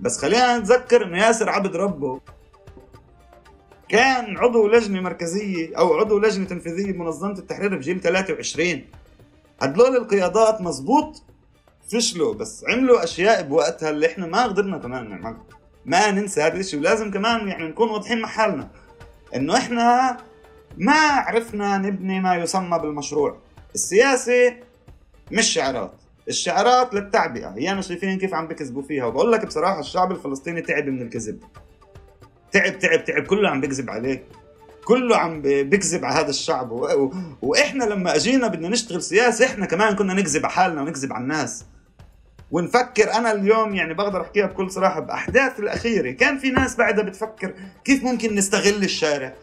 بس خلينا نتذكر انه ياسر عبد ربه كان عضو لجنة مركزية او عضو لجنة تنفيذية بمنظمة التحرير بجيل 23. هدول القيادات مزبوط فشلوا، بس عملوا اشياء بوقتها اللي احنا ما قدرنا كمان نعملها. ما ننسى هذا الشيء، ولازم كمان يعني نكون واضحين مع حالنا انه احنا ما عرفنا نبني ما يسمى بالمشروع. السياسة مش شعارات، الشعارات للتعبئة. هي أنا شايفين كيف عم بكذبوا فيها، وبقول لك بصراحة الشعب الفلسطيني تعب من الكذب. تعب كله عم بكذب عليه، كله عم بكذب على هذا الشعب. وإحنا لما أجينا بدنا نشتغل سياسة إحنا كمان كنا نكذب على حالنا ونكذب على الناس ونفكر. أنا اليوم يعني بقدر أحكيها بكل صراحة بأحداث الأخيرة كان في ناس بعدها بتفكر كيف ممكن نستغل الشارع،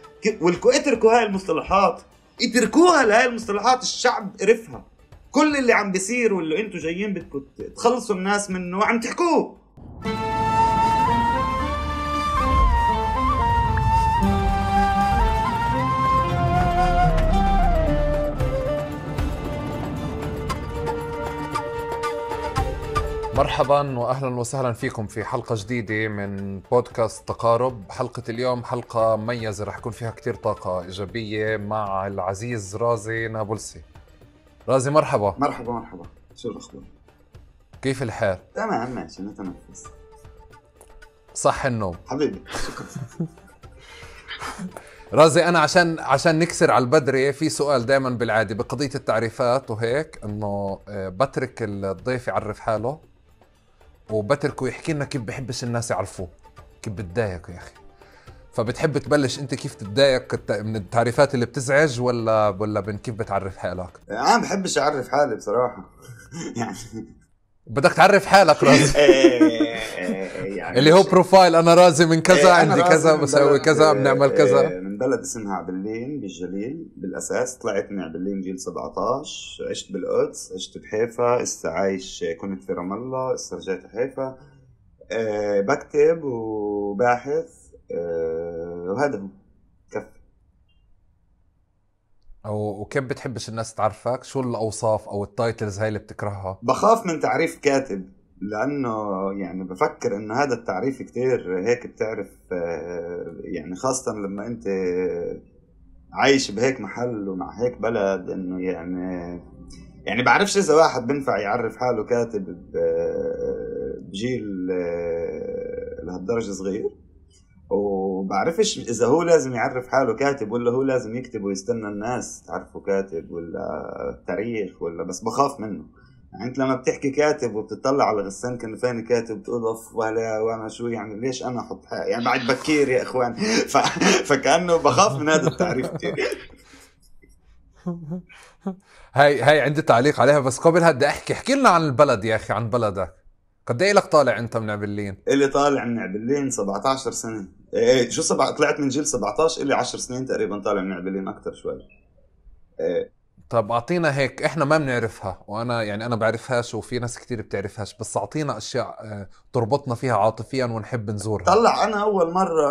اتركوا هاي المصطلحات، اتركوها لهاي المصطلحات. الشعب قرفها. كل اللي عم بيصير واللي انتوا جايين بدكم تخلصوا الناس منه عم تحكوه. مرحبا واهلا وسهلا فيكم في حلقة جديدة من بودكاست تقارب. حلقة اليوم حلقة مميزة رح يكون فيها كتير طاقة إيجابية مع العزيز رازي نابلسي. رازي مرحبا. مرحبا. شو الأخبار؟ كيف الحال؟ تمام ماشي نتنفس. صح النوم حبيبي شكرا. رازي أنا عشان نكسر على البدري في سؤال دائما بالعادة بقضية التعريفات وهيك، إنه بترك الضيف يعرف حاله وبتركه يحكي لنا كيف بحبش الناس يعرفوه، كيف بتضايق يا أخي. فبتحب تبلش أنت كيف تتضايق من التعريفات اللي بتزعج ولا من كيف بتعرف حالك؟ أنا بحبش أعرف حالي بصراحة. يعني بدك تعرف حالك رازي. يعني اللي هو بروفايل أنا رازي من كذا، عندي كذا، بسوي كذا، بنعمل كذا. من بلد اسمها عبلين بالجليل. بالأساس طلعت من عبلين جيل 17. عشت بالقدس، عشت بحيفا، هسه عايش، كنت في رام الله، هسه رجعت حيفا. بكتب وباحث، وهذا هو كفي. وكيف بتحبش الناس تعرفك؟ شو الأوصاف أو التايتلز هاي اللي بتكرهها؟ بخاف من تعريف كاتب، لأنه يعني بفكر إنه هذا التعريف كتير هيك بتعرف، يعني خاصة لما أنت عايش بهيك محل ومع هيك بلد، إنه يعني بعرفش إذا واحد بنفع يعرف حاله كاتب بجيل لهالدرجة صغير، وبعرفش إذا هو لازم يعرف حاله كاتب ولا هو لازم يكتب ويستنى الناس تعرفه كاتب ولا تاريخ ولا. بس بخاف منه. يعني أنت لما بتحكي كاتب وبتطلع على غسان كنفاني كاتب بتقول أوف ولا وأنا شو يعني ليش أنا أحط يعني بعد بكير يا إخوان. فكأنه بخاف من هذا التعريف كتير. هاي عندي تعليق عليها، بس قبل هدي احكي لنا عن البلد يا أخي، عن بلدك. قد ايه لك طالع انت من عبلين؟ اللي طالع من عبلين 17 سنة. ايه شو طلعت من جيل 17 اللي 10 سنين تقريبا طالع من عبلين، اكتر شوي. طب اعطينا هيك، احنا ما بنعرفها وانا يعني انا بعرفهاش وفي ناس كتير بتعرفهاش، بس اعطينا اشياء تربطنا فيها عاطفيا ونحب نزورها. طلع انا اول مرة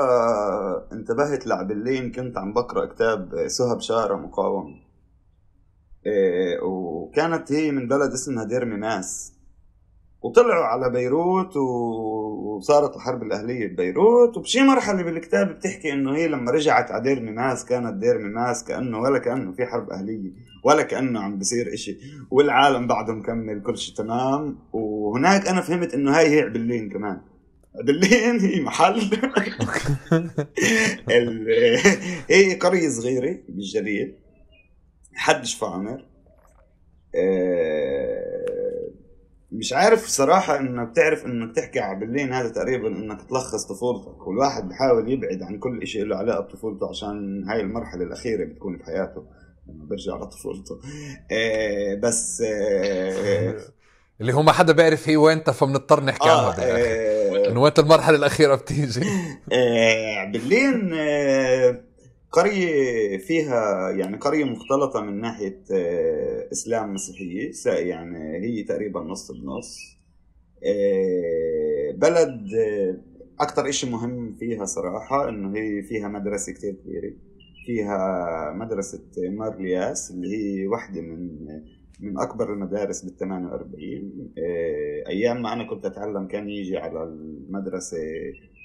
انتبهت لعبلين كنت عم بقرأ كتاب سهى بشارة مقاومة، وكانت هي من بلد اسمها دير ميماس، وطلعوا على بيروت وصارت الحرب الأهلية ببيروت. وبشي مرحلة بالكتاب بتحكي إنه هي لما رجعت على دير ميماس كانت دير ميماس كأنه ولا كأنه في حرب أهلية ولا كأنه عم بصير إشي، والعالم بعده مكمل كل شيء تمام. وهناك أنا فهمت إنه هي عبلين كمان. عبلين هي محل هي قرية صغيرة بالجليل حد شفا عمر. مش عارف صراحة انك تعرف انك تحكي عبلين هذا تقريبا انك تلخص طفولتك، والواحد بحاول يبعد عن كل اشي له علاقة بطفولته عشان هاي المرحلة الاخيرة بتكون بحياته لما برجع لطفولته. بس اللي هو ما حدا بيعرف هي وين، فبنضطر نحكي عنها بالاخر انه وين المرحلة الاخيرة بتيجي. عبلين قرية فيها يعني قرية مختلطة من ناحية إسلام مسيحية، يعني هي تقريبا نص بنص. بلد أكتر إشي مهم فيها صراحة إنه هي فيها مدرسة كتير كبيرة. فيها مدرسة مارلياس اللي هي واحدة من من أكبر المدارس بال48. أيام ما أنا كنت أتعلم كان يجي على المدرسة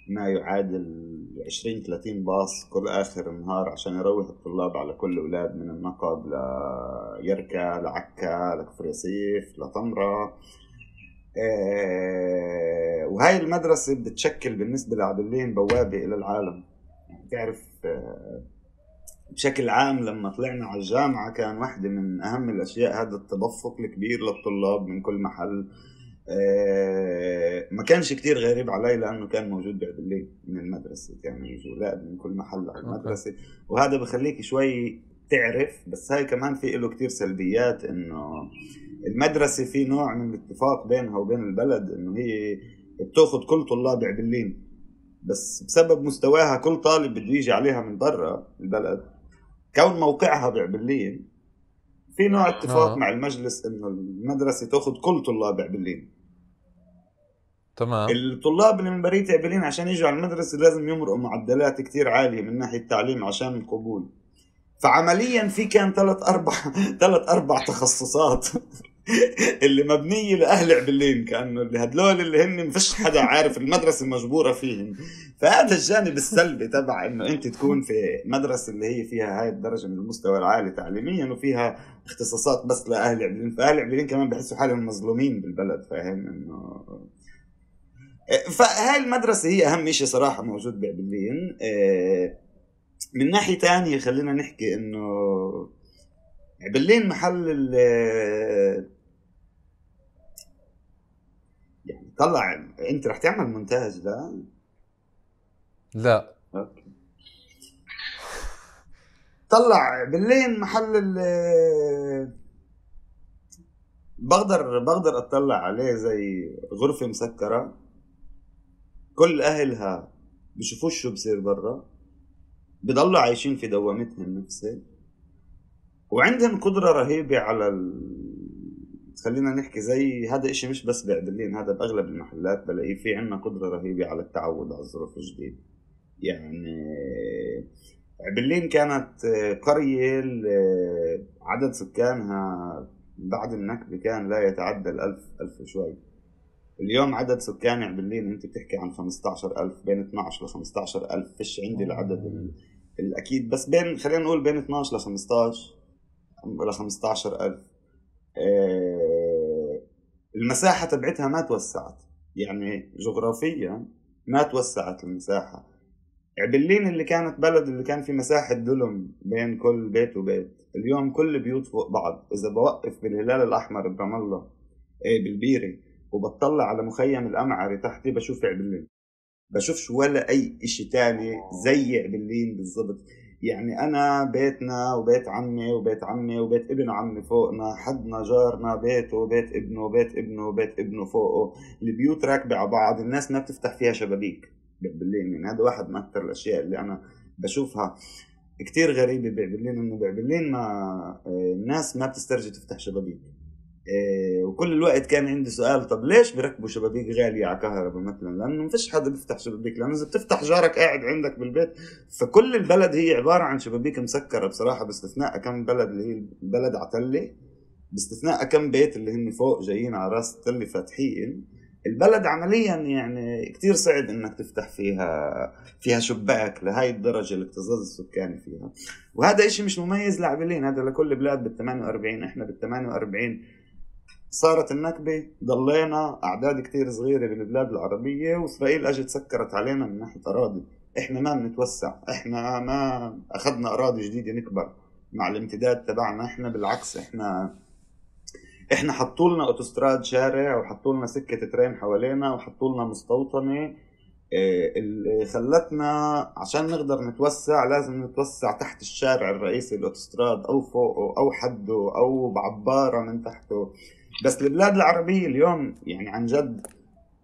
ما يعادل 20-30 باص كل آخر النهار عشان يروح الطلاب على كل أولاد، من النقب ليركا لعكا لكفر ياسيف لطمرة. وهاي المدرسة بتشكل بالنسبة لعبلين بوابة إلى العالم. يعني تعرف بشكل عام لما طلعنا على الجامعة كان واحدة من أهم الأشياء هذا التدفق الكبير للطلاب من كل محل. ما كانش كتير غريب علي لأنه كان موجود بعبلين من المدرسة، كانوا يجوا أولاد من كل محل على المدرسة. وهذا بخليك شوي تعرف، بس هاي كمان في له كتير سلبيات، إنه المدرسة في نوع من الاتفاق بينها وبين البلد إنه هي بتاخد كل طلاب عبلين، بس بسبب مستواها كل طالب بده يجي عليها من برا البلد، كون موقعها بعبلين في نوع اتفاق مع المجلس إنه المدرسة تاخد كل طلاب عبلين. تمام. الطلاب اللي من برية عبلين عشان يجوا على المدرسة لازم يمرقوا معدلات كتير عالية من ناحية التعليم عشان القبول. فعمليا في كان 3-4 تخصصات اللي مبنية لأهل عبلين، كأنه اللي هدلول اللي هن مفيش حدا عارف المدرسة مجبورة فيهم. فهذا الجانب السلبي تبع إنه أنت تكون في مدرسة اللي هي فيها هاي الدرجة من المستوى العالي تعليميا وفيها اختصاصات بس لأهل عبلين، فأهل عبلين كمان بحسوا حالهم مظلومين بالبلد، فاهم إنه. فهاي المدرسة هي أهم شيء صراحة موجود بعبلين. من ناحية تانية خلينا نحكي إنه عبلين محل يعني طلع. أنت رح تعمل مونتاج لا أوكي. طلع عبلين محل بقدر أطلع عليه زي غرفة مسكرة، كل أهلها بيشوفوش شو بصير برا، بيضلوا عايشين في دوامتهم النفسية، وعندهم قدرة رهيبة على خلينا نحكي زي هذا إشي مش بس بعبلين، هذا بأغلب المحلات بلاقيه في عنا قدرة رهيبة على التعود على الظروف الجديدة. يعني عبلين كانت قرية عدد سكانها بعد النكبة كان لا يتعدى 1000 شوي. اليوم عدد سكان عبلين انت بتحكي عن 15,000، بين 12 ل 15,000. فيش عندي العدد الأكيد، بس بين خلينا نقول بين 12 ل 15 ل 15,000. المساحة تبعتها ما توسعت، يعني جغرافيا ما توسعت المساحة. عبلين اللي كانت بلد اللي كان في مساحة دلم بين كل بيت وبيت، اليوم كل بيوت فوق بعض. إذا بوقف بالهلال الأحمر برام الله بالبيري وبطلع على مخيم الأمعري تحتي بشوف عبلين، بشوفش ولا أي إشي تاني زي عبلين بالضبط. يعني أنا بيتنا وبيت عمي وبيت عمي وبيت ابن عمي فوقنا، حدنا جارنا بيته وبيت ابنه وبيت ابنه وبيت ابنه فوقه، البيوت راكبة على بعض، الناس ما بتفتح فيها شبابيك بعبلين. يعني هذا واحد من أكثر الأشياء اللي أنا بشوفها كتير غريبة بعبلين، إنه بعبلين ما الناس ما بتسترجي تفتح شبابيك. وكل الوقت كان عندي سؤال، طب ليش بركبوا شبابيك غالية على كهرباء مثلا؟ لأنه مفيش حدا بيفتح شبابيك، لأنه إذا بتفتح جارك قاعد عندك بالبيت. فكل البلد هي عبارة عن شبابيك مسكرة بصراحة، باستثناء كم بلد اللي هي البلد عتلة، باستثناء كم بيت اللي هن فوق جايين على راس التلة فاتحين. البلد عمليا يعني كتير صعب انك تفتح فيها شباك لهاي الدرجة الاكتظاظ السكاني فيها. وهذا اشي مش مميز لعبلين، هذا لكل بلاد بال48. احنا بال48 صارت النكبة، ضلينا أعداد كتير صغيرة بالبلاد العربية، وإسرائيل أجت سكرت علينا من ناحية أراضي. إحنا ما بنتوسع، إحنا ما أخذنا أراضي جديدة نكبر مع الامتداد تبعنا. إحنا بالعكس، إحنا حطولنا أوتوستراد شارع، وحطولنا سكة ترين حوالينا، وحطولنا مستوطنة اللي خلتنا عشان نقدر نتوسع لازم نتوسع تحت الشارع الرئيسي الأوتوستراد، أو فوقه أو حده أو بعبارة من تحته. بس البلاد العربية اليوم يعني عن جد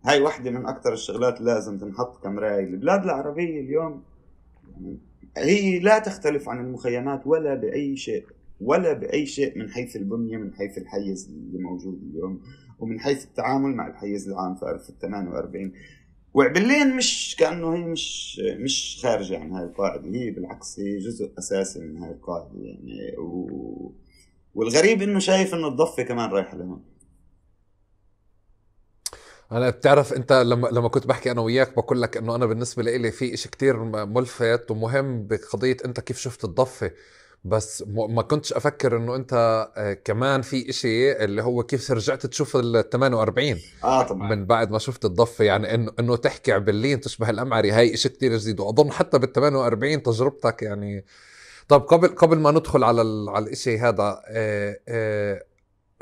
هاي واحدة من أكتر الشغلات لازم تنحط كمراية. البلاد العربية اليوم هي لا تختلف عن المخيمات ولا بأي شيء من حيث البنية، من حيث الحيز اللي موجود اليوم، ومن حيث التعامل مع الحيز العام في 48. وعبلين مش كأنه هي مش خارجة عن هاي القاعدة، هي بالعكس هي جزء أساسي من هاي القاعدة يعني. والغريب انه شايف انه الضفة كمان رايحة لهون. انا بتعرف انت لما كنت بحكي انا وياك بقول لك انه انا بالنسبه لي في اشي كتير ملفت ومهم بقضيه انت كيف شفت الضفه، بس ما كنتش افكر انه انت كمان في اشي اللي هو كيف رجعت تشوف ال 48 طبعا. من بعد ما شفت الضفه. يعني انه تحكي عبلين تشبه الامعري، هاي اشي كتير جديد، واظن حتى بال 48 تجربتك يعني. طب قبل ما ندخل على الاشي هذا،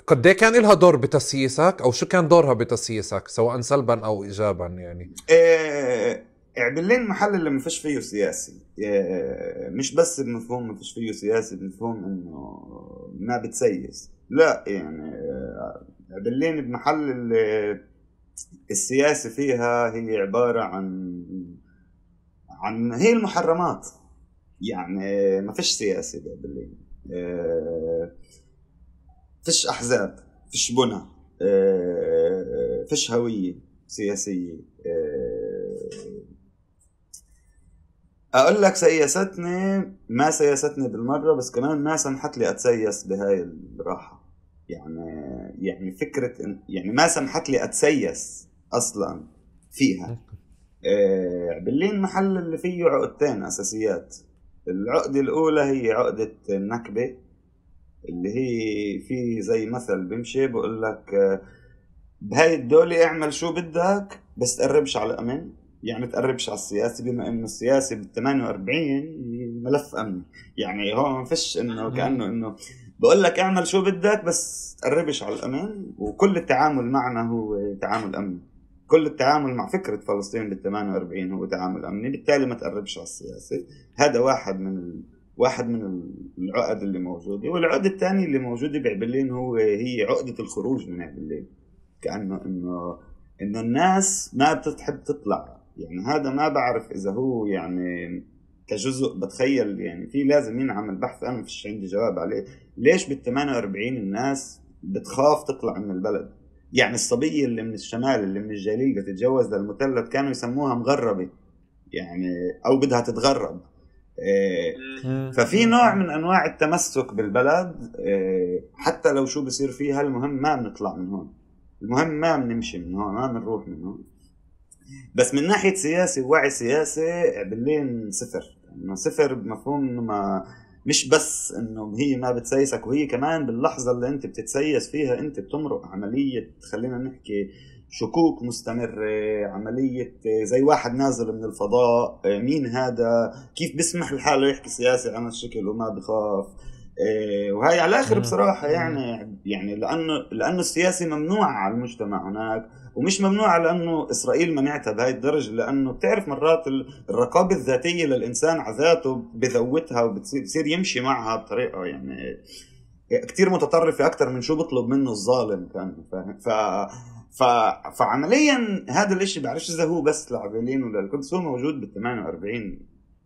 قد ايه كان لها دور بتسييسك، او شو كان دورها بتسييسك سواء سلبا او ايجابا يعني؟ عبلين محل اللي ما فيش فيه سياسي، مش بس بمفهوم ما فيش فيه سياسي، بمفهوم انه ما بتسيس، لا يعني عبلين بمحل اللي السياسة فيها هي عبارة عن هي المحرمات. يعني ما فيش سياسة بعبلين، فيش احزاب، فيش بنى، فيش هوية سياسية. اقول لك سياستني ما سياستني بالمرة، بس كمان ما سمحت لي اتسيس بهاي الراحة. يعني فكرة يعني ما سمحت لي اتسيس اصلا فيها. عبلين محل اللي فيه عقدتين اساسيات. العقدة الاولى هي عقدة النكبة، اللي هي في زي مثل بمشي بقول لك بهاي الدولة اعمل شو بدك بس تقربش على الأمن. يعني تقربش على السياسي، بما انه السياسي بال 48 ملف امني. يعني هو ما فيش انه كأنه انه بقول لك اعمل شو بدك بس تقربش على الأمن، وكل التعامل معنا هو تعامل امني. كل التعامل مع فكرة فلسطين بال 48 هو تعامل امني، بالتالي ما تقربش على السياسي. هذا واحد من العقد اللي موجودة. والعقد الثاني اللي موجودة بعبلين هي عقدة الخروج من عبلين. كأنه إنه الناس ما بتحب تطلع. يعني هذا ما بعرف إذا هو يعني كجزء، بتخيل يعني في لازم ينعمل بحث، أنا مفيش عندي جواب عليه. ليش بال 48 الناس بتخاف تطلع من البلد؟ يعني الصبية اللي من الشمال اللي من الجليل تتجوز للمثلث كانوا يسموها مغربة، يعني أو بدها تتغرب. ففي نوع من انواع التمسك بالبلد، حتى لو شو بصير فيها المهم ما بنطلع من هون، المهم ما بنمشي من هون، ما بنروح من هون. بس من ناحية سياسي ووعي سياسي عبلين صفر. انه صفر بمفهوم انه ما مش بس انه هي ما بتسيسك، وهي كمان باللحظة اللي انت بتتسيس فيها انت بتمرق عملية، خلينا نحكي شكوك مستمرة، عملية زي واحد نازل من الفضاء، مين هذا؟ كيف بيسمح لحاله يحكي سياسي عن الشكل وما بخاف؟ وهي على الآخر بصراحة يعني لأنه السياسي ممنوع على المجتمع هناك، ومش ممنوع لأنه إسرائيل منعتها بهاي الدرجة، لأنه بتعرف مرات الرقابة الذاتية للإنسان عذاته بذوتها وبتصير يمشي معها بطريقة يعني كتير متطرفة أكتر من شو بطلب منه الظالم كان. فعمليا هذا الاشي بعرفش اذا هو بس لعبلين ولا القدس، هو موجود بال 48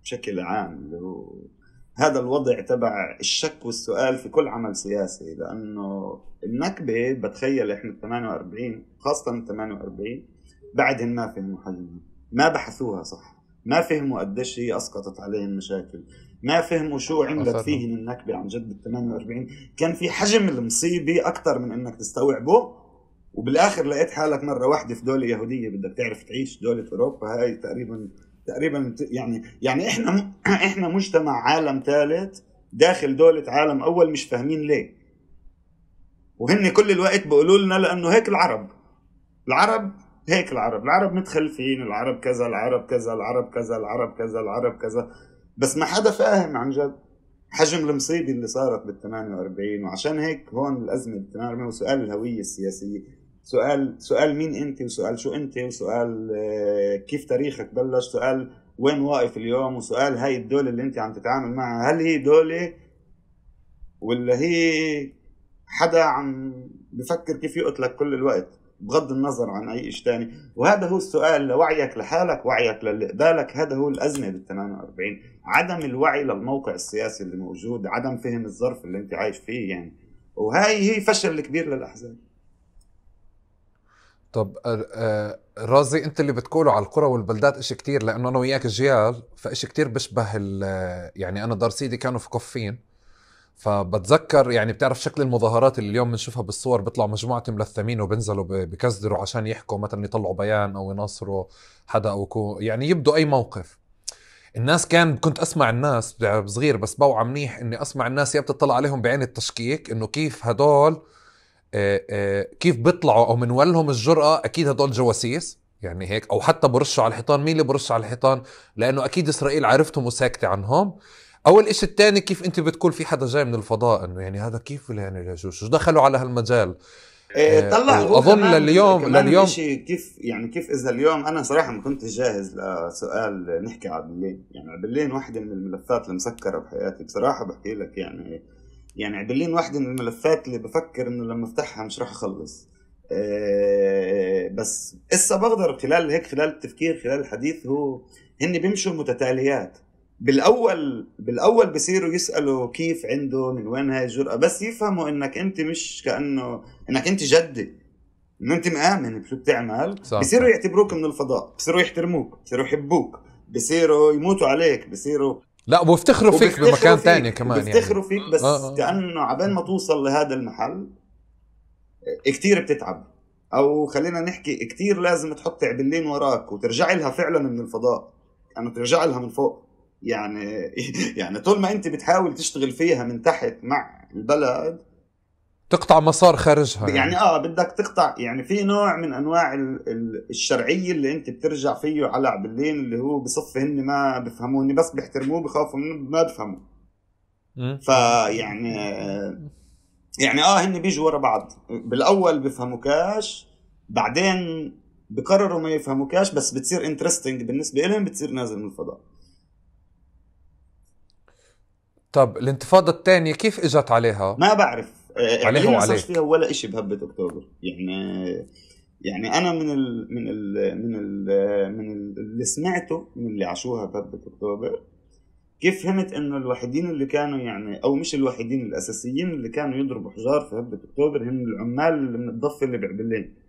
بشكل عام، اللي هو هذا الوضع تبع الشك والسؤال في كل عمل سياسي. لانه النكبة بتخيل احنا 48 خاصة 48 بعدهم ما فهموا حجمها، ما بحثوها صح، ما فهموا قديش هي اسقطت عليهم مشاكل، ما فهموا شو عملت فيهم النكبة عن جد بال 48. كان في حجم المصيبة اكتر من انك تستوعبه، وبالاخر لقيت حالك مره واحده في دوله يهوديه بدك تعرف تعيش. دوله اوروبا هاي تقريبا يعني احنا مجتمع عالم ثالث داخل دوله عالم اول، مش فاهمين ليه. وهن كل الوقت بيقولوا لنا لانه هيك العرب هيك العرب متخلفين، العرب كذا، العرب كذا، العرب كذا، العرب كذا، العرب كذا. بس ما حدا فاهم عن جد حجم المصيبة اللي صارت بال 48. وعشان هيك هون الأزمة بال 48 وسؤال الهوية السياسية، سؤال مين أنت، وسؤال شو أنت، وسؤال كيف تاريخك بلش، سؤال وين واقف اليوم، وسؤال هاي الدولة اللي أنت عم تتعامل معها هل هي دولة ولا هي حدا عم بفكر كيف يقتلك كل الوقت بغض النظر عن أي شيء تاني. وهذا هو السؤال لوعيك لحالك، وعيك للي قبالك. هذا هو الأزمة بال 48، عدم الوعي للموقع السياسي اللي موجود، عدم فهم الظرف اللي انت عايش فيه يعني. وهاي هي فشل كبير للأحزاب. طب رازي، انت اللي بتقوله على القرى والبلدات اشي كتير، لانه انا وياك جيال، فاشي كتير بشبه يعني انا دار سيدي كانوا في قفين، فبتذكر يعني بتعرف شكل المظاهرات اللي اليوم بنشوفها بالصور، بيطلعوا مجموعة ملثمين وبنزلوا بكزدروا عشان يحكوا مثلا، يطلعوا بيان او يناصروا حدا او يعني يبدوا اي موقف. الناس كنت اسمع الناس صغير بس بوعى منيح اني اسمع الناس يا بتطلع عليهم بعين التشكيك انه كيف هدول كيف بيطلعوا او من ولهم الجرأة، اكيد هدول جواسيس يعني هيك، او حتى برشوا على الحيطان. مين اللي برش على الحيطان؟ لانه اكيد اسرائيل عرفتهم وساكتة عنهم. اول اشي التاني، كيف انت بتقول في حدا جاي من الفضاء، انه يعني هذا كيف يعني شو دخلوا على هالمجال؟ طلع هو واظن كمان لليوم الاشي كيف يعني، كيف اذا اليوم انا صراحه ما كنت جاهز لسؤال نحكي على عبلين. يعني عبلين واحدة من الملفات المسكره بحياتي بصراحه، بحكي لك يعني عبلين واحدة من الملفات اللي بفكر انه لما افتحها مش راح اخلص. بس اسا بقدر خلال التفكير خلال الحديث، هن بيمشوا متتاليات. بالاول بصيروا يسالوا كيف عنده، من وين هاي الجرأة، بس يفهموا انك انت مش كانه انك انت جدي، انه انت مآمن بشو بتعمل. بصيروا يعتبروك من الفضاء، بصيروا يحترموك، بصيروا يحبوك، بصيروا يموتوا عليك، بصيروا لا وبيفتخروا فيك بمكان تاني كمان، بيفتخروا فيك. بس كأنه عبين ما توصل لهذا المحل كتير بتتعب، او خلينا نحكي كتير لازم تحط عبلين وراك وترجع لها فعلا من الفضاء، يعني ترجع لها من فوق. يعني طول ما انت بتحاول تشتغل فيها من تحت مع البلد، تقطع مسار خارجها يعني بدك تقطع. يعني في نوع من انواع الشرعيه اللي انت بترجع فيه على عبلين، اللي هو بصف هن ما بفهموني، بس بيحترموه، بخافوا منه، ما بفهموا. فيعني هن بيجوا ورا بعض. بالاول بفهموكاش، بعدين بقرروا ما يفهموكاش، بس بتصير انترستينج بالنسبه لهم، بتصير نازل من الفضاء. طب الانتفاضة الثانية كيف اجت عليها؟ ما بعرف. عليها ما صارش فيها ولا إشي بهبة أكتوبر. يعني أنا من اللي سمعته من اللي عاشوها بهبة أكتوبر، كيف فهمت إنه الوحيدين اللي كانوا يعني، أو مش الوحيدين، الأساسيين اللي كانوا يضربوا حجار في هبة أكتوبر هم العمال اللي من الضفة اللي بعبلين.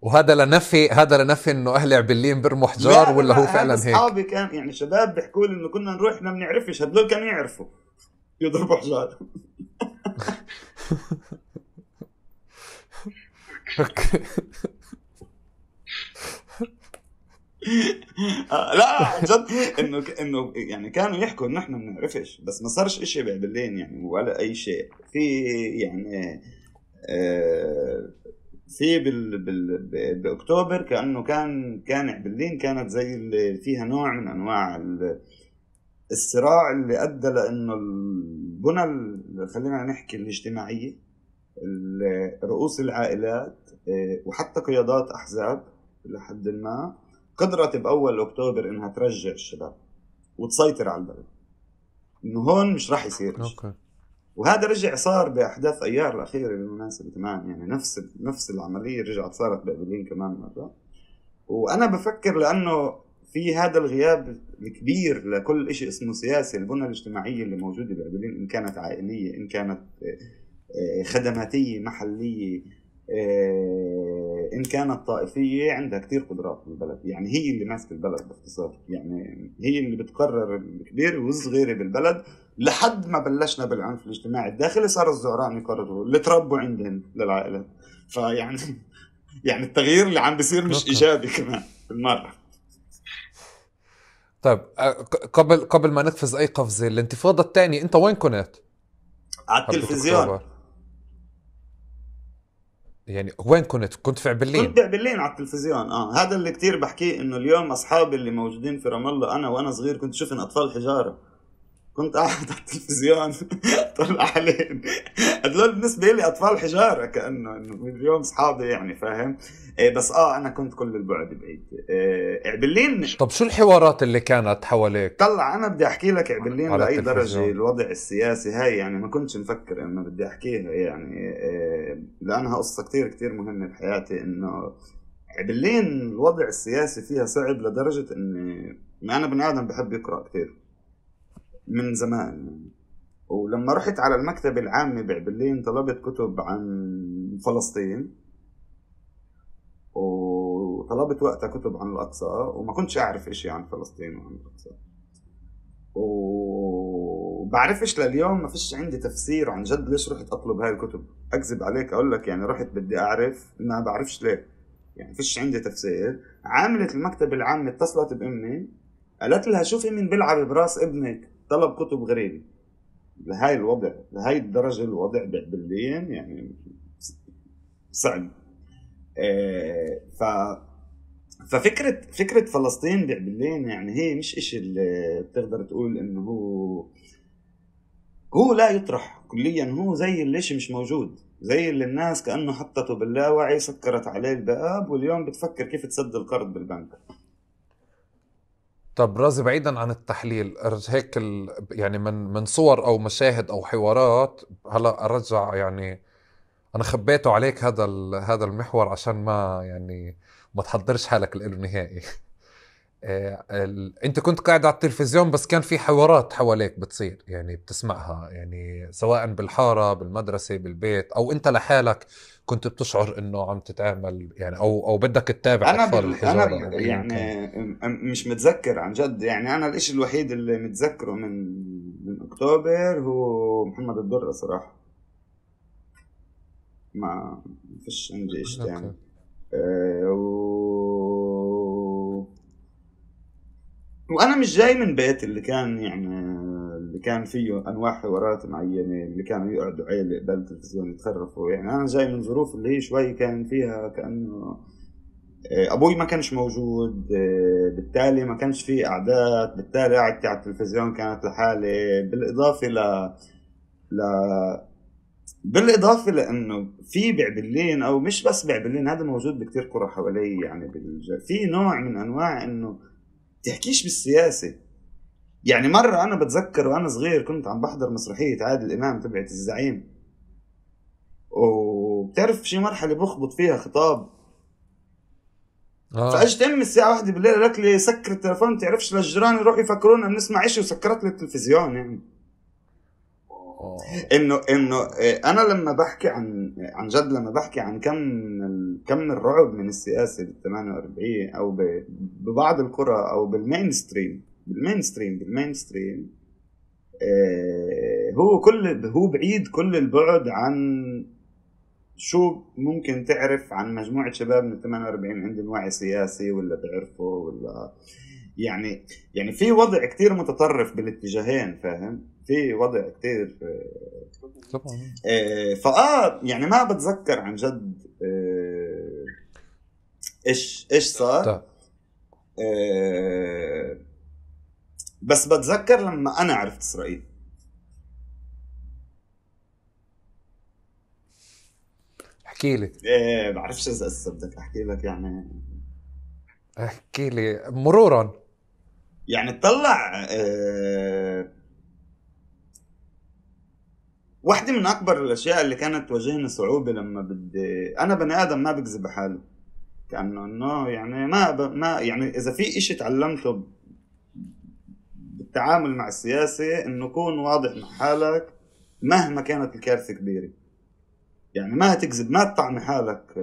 وهذا لنفي انه اهل عبلين برموا حجار، ولا هو فعلا هيك؟ اصحابي كان يعني شباب بيحكوا لي انه كنا نروح احنا ما بنعرفش، هذول كانوا يعرفوا يضربوا حجار. لا جد، انه يعني كانوا يحكوا انه احنا ما بنعرفش، بس ما صارش اشي بعبلين يعني ولا اي شيء. في يعني في باكتوبر كانه كان عبلين كانت زي اللي فيها نوع من انواع الصراع اللي ادى لانه البنى، خلينا نحكي الاجتماعيه، رؤوس العائلات وحتى قيادات احزاب لحد ما قدرت باول اكتوبر انها ترجع الشباب وتسيطر على البلد، انه هون مش راح يصير. وهذا رجع صار باحداث ايار الاخيره بالمناسبه كمان، يعني نفس العمليه رجعت صارت بابلين كمان مره. وانا بفكر لانه في هذا الغياب الكبير لكل شيء اسمه سياسي، البنى الاجتماعيه اللي موجوده بابلين، ان كانت عائليه، ان كانت خدماتيه محليه، إن كانت طائفية، عندها كتير قدرات بالبلد. يعني هي اللي ماسكة البلد باختصار، يعني هي اللي بتقرر الكبير والصغير بالبلد. لحد ما بلشنا بالعنف الاجتماعي الداخلي، صار الزعران يقرروا اللي تربوا عندهم للعائلات. فيعني يعني التغيير اللي عم بيصير مش إيجابي كمان بالمرة. طيب قبل ما نقفز أي قفزة، الانتفاضة الثانية أنت وين كنت؟ على التلفزيون. يعني وين كنت في عبلين؟ كنت بعبلين على التلفزيون. هذا اللي كتير بحكيه، انه اليوم اصحابي اللي موجودين في رام الله، انا وانا صغير كنت شوفن اطفال حجاره، كنت قاعد على التلفزيون طلع عليهم. هذول بالنسبه لي اطفال حجاره، كانه اليوم اصحابي يعني، فاهم؟ بس انا كنت كل البعد بعيد. عبلين. طب شو الحوارات اللي كانت حواليك؟ طلع انا بدي احكي لك عبلين لاي درجه الوضع السياسي هاي، يعني ما كنتش مفكر انه بدي احكيها، يعني لانها قصه كتير كتير مهمه بحياتي. انه عبلين الوضع السياسي فيها صعب لدرجه اني انا بني ادم بحب يقرا كتير من زمان. ولما رحت على المكتبة العامة بعبلين طلبت كتب عن فلسطين، وطلبت وقتها كتب عن الأقصى، وما كنتش أعرف إشي عن فلسطين وعن الأقصى. وبعرفش لليوم، ما فيش عندي تفسير عن جد ليش رحت اطلب هاي الكتب. اكذب عليك اقول لك يعني رحت بدي اعرف، ما بعرفش ليه، يعني فيش عندي تفسير. عاملة المكتب العام اتصلت بامي قالت لها شوفي مين بيلعب براس ابنك، طلب كتب غريبة. لهاي الوضع، لهاي الدرجة الوضع باللين يعني صعب. ف فكرة فلسطين بعبلين يعني هي مش اشي اللي بتقدر تقول انه هو لا يطرح كليا، هو زي اللي اشي مش موجود، زي اللي الناس كأنه حطته باللاوعي، سكرت عليه الباب واليوم بتفكر كيف تسد القرض بالبنك. طب رازي، بعيدا عن التحليل هيك يعني من صور او مشاهد او حوارات، هلا ارجع يعني انا خبيته عليك هذا المحور عشان ما يعني ما تحضرش حالك له نهائي. انت كنت قاعد على التلفزيون بس كان في حوارات حواليك بتصير يعني بتسمعها، يعني سواء بالحارة بالمدرسة بالبيت، او انت لحالك كنت بتشعر انه عم تتعامل يعني او بدك تتابع اطفال الحجارة او ايا كان. يعني مش متذكر عن جد. يعني انا الاشي الوحيد اللي متذكره من اكتوبر هو محمد الدرة صراحة، ما فيش عندي اشي تاني. اوكي. وانا مش جاي من بيت اللي كان يعني اللي كان فيه انواع حوارات معينه، اللي كانوا يقعدوا عيله قبل التلفزيون يتخرفوا. يعني انا جاي من ظروف اللي هي شوي كان فيها كانه ابوي ما كانش موجود، بالتالي ما كانش فيه قعدات، بالتالي قعدتي على التلفزيون كانت لحالي. ل... بالاضافه لانه في بعبلين، او مش بس بعبلين، هذا موجود بكتير قرى حوالي يعني في نوع من انواع انه تحكيش بالسياسة. يعني مرة أنا بتذكر وأنا صغير كنت عم بحضر مسرحية عادل إمام تبعت الزعيم، وبتعرف شي مرحلة بخبط فيها خطاب، فأجت أمي الساعة 1 بالليل قالت لي سكر التلفون، تعرفش للجيران يروحوا يفكرونا بنسمع إشي، وسكرت لي التلفزيون. يعني إنه أنا لما بحكي عن جد، لما بحكي عن كم من الرعب من السياسة بال 48 أو ببعض القرى أو بالمينستريم، هو بعيد كل البعد عن شو ممكن تعرف عن مجموعة شباب من 48 عندهم وعي سياسي ولا بيعرفوا ولا يعني في وضع كتير متطرف بالاتجاهين، فاهم؟ في وضع كتير يعني ما بتذكر عن جد ايش صار. بس بتذكر لما انا عرفت اسرائيل. احكي لي. بعرفش اذا بدك احكي لك يعني. احكي لي مرورا. يعني تطلع واحدة من اكبر الاشياء اللي كانت تواجهني صعوبة لما انا بني ادم ما بكذب حالي، كأنه يعني ما يعني اذا في اشي تعلمته بالتعامل مع السياسة انه كون واضح مع حالك مهما كانت الكارثة كبيرة. يعني ما تكذب، ما تطعم حالك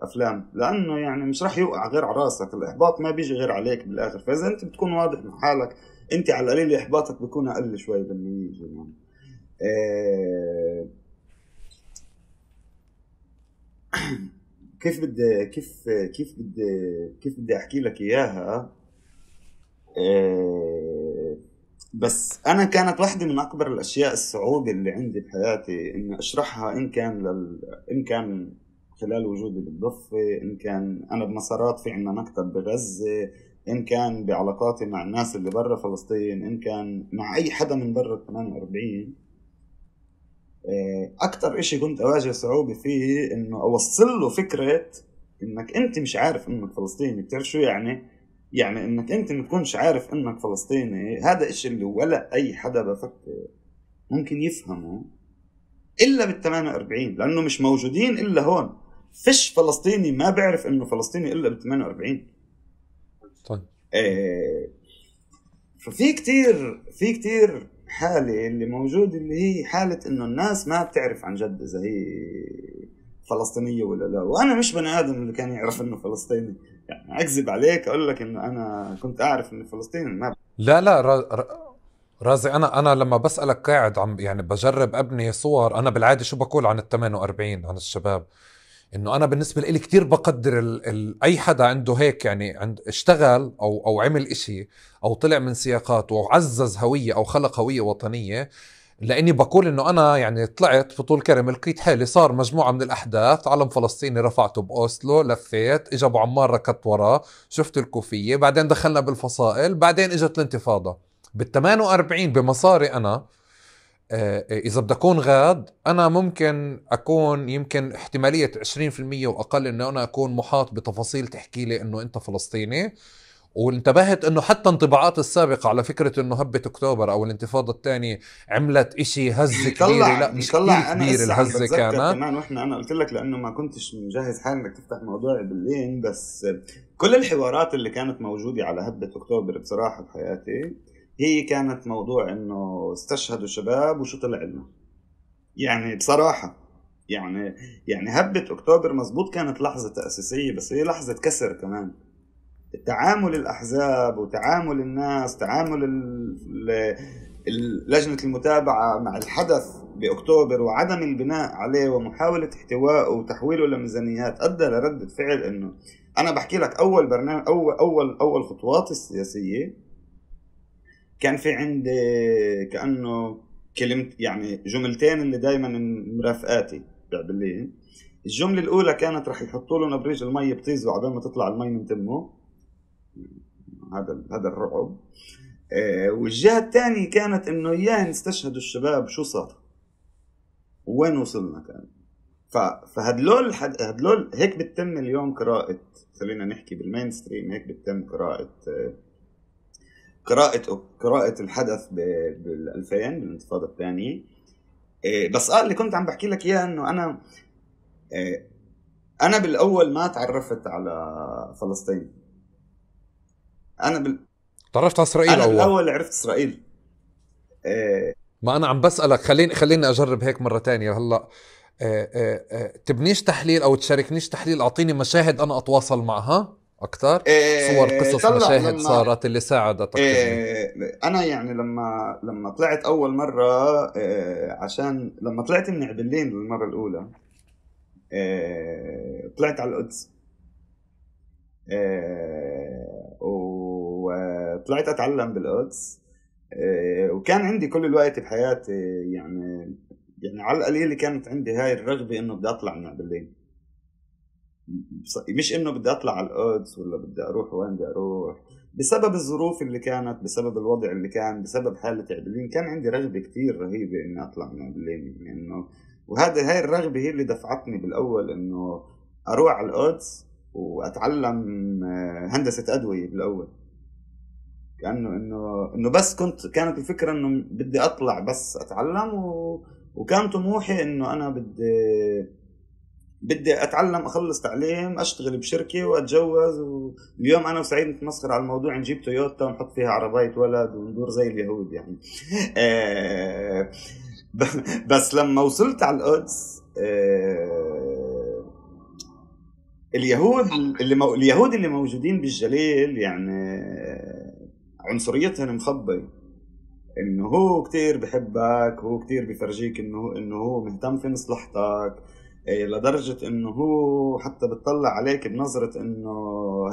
افلام، لانه يعني مش راح يوقع غير على راسك، الاحباط ما بيجي غير عليك بالاخر. فاذا انت بتكون واضح مع حالك انت على القليل احباطك بيكون اقل شوي لما يجي يعني. كيف بدي احكي لك اياها. بس انا كانت واحدة من اكبر الاشياء الصعوبة اللي عندي بحياتي اني اشرحها، ان كان خلال وجودي بالضفة، ان كان انا بمسارات في عنا مكتب بغزة، ان كان بعلاقاتي مع الناس اللي برا فلسطين، ان كان مع اي حدا من برا 48. اكتر اشي كنت اواجه صعوبة فيه انه اوصل له فكرة انك انت مش عارف انك فلسطيني. بتعرف شو يعني انك انت ما تكونش عارف انك فلسطيني. هذا الشيء اللي ولا اي حدا بفكر ممكن يفهمه الا بال 48، لانه مش موجودين الا هون. فيش فلسطيني ما بيعرف انه فلسطيني الا بال 48. طيب. ففي كتير حالة اللي موجود، اللي هي حالة انه الناس ما بتعرف عن جد اذا هي فلسطينية ولا لا. وانا مش بني ادم اللي كان يعرف انه فلسطيني. يعني اكذب عليك اقول لك انه انا كنت اعرف انه فلسطيني. ما لا رازي، انا لما بسألك قاعد عم يعني بجرب ابني صور، انا بالعادة شو بقول عن ال48 عن الشباب، انه انا بالنسبة لي كتير بقدر اي حدا عنده هيك يعني اشتغل او عمل اشي او طلع من سياقات وعزز هوية او خلق هوية وطنية. لاني بقول انه انا يعني طلعت في طول كرم، لقيت حالي صار مجموعة من الاحداث، علم فلسطيني رفعته باوسلو، لفيت، اجى ابو عمار ركضت وراه، شفت الكوفية، بعدين دخلنا بالفصائل، بعدين اجت الانتفاضة. بال48 بمصاري انا، إذا بدي أكون غاد، أنا ممكن أكون يمكن احتمالية 20% وأقل إنه أنا أكون محاط بتفاصيل تحكي لي إنه أنت فلسطيني. وانتبهت إنه حتى انطباعات السابقة على فكرة إنه هبة أكتوبر أو الانتفاضة الثانية عملت إشي هزة كبيرة، لا مش كتير يطلع. انا كبيرة هسه عم الهزة بتذكر كانت. كمان، واحنا انا قلت لك لانه ما كنتش مجهز حالي انك تفتح موضوع بالليل، بس كل الحوارات اللي كانت موجودة على هبة اكتوبر بصراحة بحياتي هي كانت موضوع انه استشهدوا شباب وشو طلع لنا. يعني بصراحة يعني هبة اكتوبر مزبوط كانت لحظة تأسيسية، بس هي لحظة كسر كمان. تعامل الأحزاب وتعامل الناس، تعامل لجنة المتابعة مع الحدث بأكتوبر وعدم البناء عليه ومحاولة احتوائه وتحويله لميزانيات أدى لردة فعل. إنه أنا بحكي لك أول برنامج، أول خطوات السياسية كان في عندي كأنه كلمة، يعني جملتين اللي دايما مرافقاتي بالليل. الجملة الأولى كانت رح يحطوا له نبريج المي بطيزه عبال ما تطلع المي من تمه، هذا الرعب. والجهة الثانية كانت انه اياه نستشهدوا الشباب، شو صار وين وصلنا كان. فهدلول هيك بتتم اليوم قراءة، خلينا نحكي بالمين ستريم، هيك بتتم قراءة الحدث بال2000 بالانتفاضة الثانية. بس اللي كنت عم بحكي لك اياه انه انا بالاول ما تعرفت على فلسطين. تعرفت على إسرائيل انا أول؟ بالاول عرفت اسرائيل. ما أنا عم بسألك، خليني أجرب هيك مرة تانية هلأ. تبنيش تحليل أو تشاركنيش تحليل، أعطيني مشاهد أنا أتواصل معها أكتر، صور، قصص، طلع مشاهد لما صارت اللي ساعدتك تبني. انا يعني لما طلعت اول مره، عشان لما طلعت من عبلين للمره الاولى، طلعت على القدس، وطلعت اتعلم بالقدس. وكان عندي كل الوقت بحياتي، يعني على القليل كانت عندي هاي الرغبه انه بدي اطلع من عبلين. مش انه بدي اطلع على القدس ولا بدي اروح وين بدي اروح، بسبب الظروف اللي كانت، بسبب الوضع اللي كان، بسبب حالة عبلين، كان عندي رغبة كتير رهيبة اني اطلع من عبلين. يعني انه هاي الرغبة هي اللي دفعتني بالاول انه اروح على القدس واتعلم هندسة ادوية بالاول. كأنه انه بس كانت الفكرة انه بدي اطلع بس اتعلم، وكان طموحي انه انا بدي اتعلم، اخلص تعليم، اشتغل بشركه واتجوز. واليوم انا وسعيد نتمسخر على الموضوع، نجيب تويوتا ونحط فيها عربيه ولد وندور زي اليهود يعني. بس لما وصلت على القدس، اليهود اللي موجودين بالجليل يعني عنصريتهم مخبي. انه هو كتير بحبك، هو كتير بيفرجيك انه هو مهتم في مصلحتك، لدرجة انه هو حتى بتطلع عليك بنظرة انه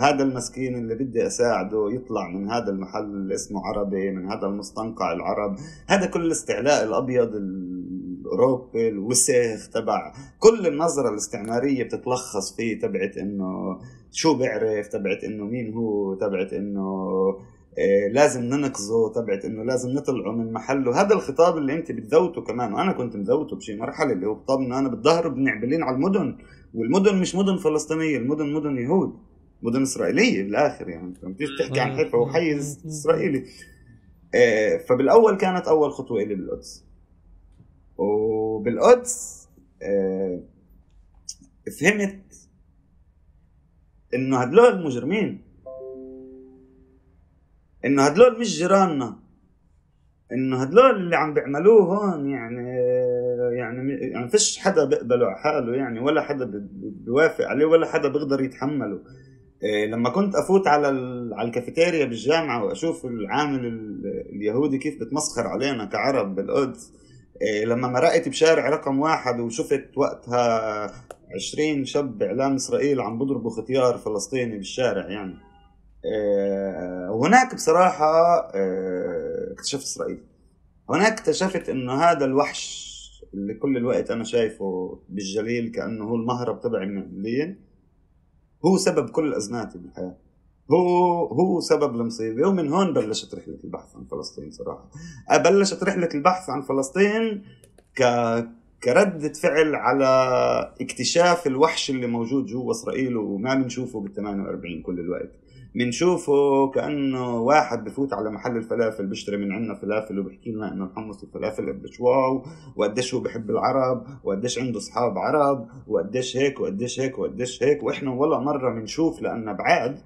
هذا المسكين اللي بدي اساعده يطلع من هذا المحل اللي اسمه عربي، من هذا المستنقع العرب. هذا كل الاستعلاء الابيض الاوروبي الوسخ تبع كل النظرة الاستعمارية بتتلخص فيه، تبعت انه شو بيعرف، تبعت انه مين هو، تبعت انه لازم ننقذه، تبعت انه لازم نطلعه من محله. هذا الخطاب اللي انت بتذوته كمان، وانا كنت مذوته بشي مرحله، اللي هو خطاب انه انا بتظاهر بنعبلين على المدن، والمدن مش مدن فلسطينيه، المدن مدن يهود، مدن اسرائيليه بالاخر. يعني انت بتيجي تحكي عن حيفا وحيز اسرائيلي. فبالاول كانت اول خطوه لي بالقدس. وبالقدس فهمت انه هدول المجرمين، انه هدول مش جيراننا، انه هدول اللي عم بيعملوه هون يعني فيش حدا بيقبله على حاله، يعني ولا حدا بيوافق عليه، ولا حدا بيقدر يتحمله. لما كنت افوت على الكافيتيريا بالجامعه واشوف العامل اليهودي كيف بتمسخر علينا كعرب بالقدس، لما مرقت بشارع رقم 1 وشفت وقتها 20 شاب اعلام اسرائيل عم بضربوا ختيار فلسطيني بالشارع يعني، وهناك بصراحه اكتشفت اسرائيل. هناك اكتشفت انه هذا الوحش اللي كل الوقت انا شايفه بالجليل كانه هو المهرب تبعي من الليل، هو سبب كل أزماتي بالحياة، هو سبب المصيبة. ومن هون بلشت رحلة البحث عن فلسطين صراحة. بلشت رحلة البحث عن فلسطين كردة فعل على اكتشاف الوحش اللي موجود جوا إسرائيل وما بنشوفه بال48 كل الوقت. بنشوفه كأنه واحد بفوت على محل الفلافل بيشتري من عنا فلافل وبحكي لنا إنه الحمص الفلافل قديش واو، وقديش هو بحب العرب، وقديش عنده أصحاب عرب، وقديش هيك وقديش هيك وقديش هيك. وإحنا ولا مرة بنشوف، لأن بعاد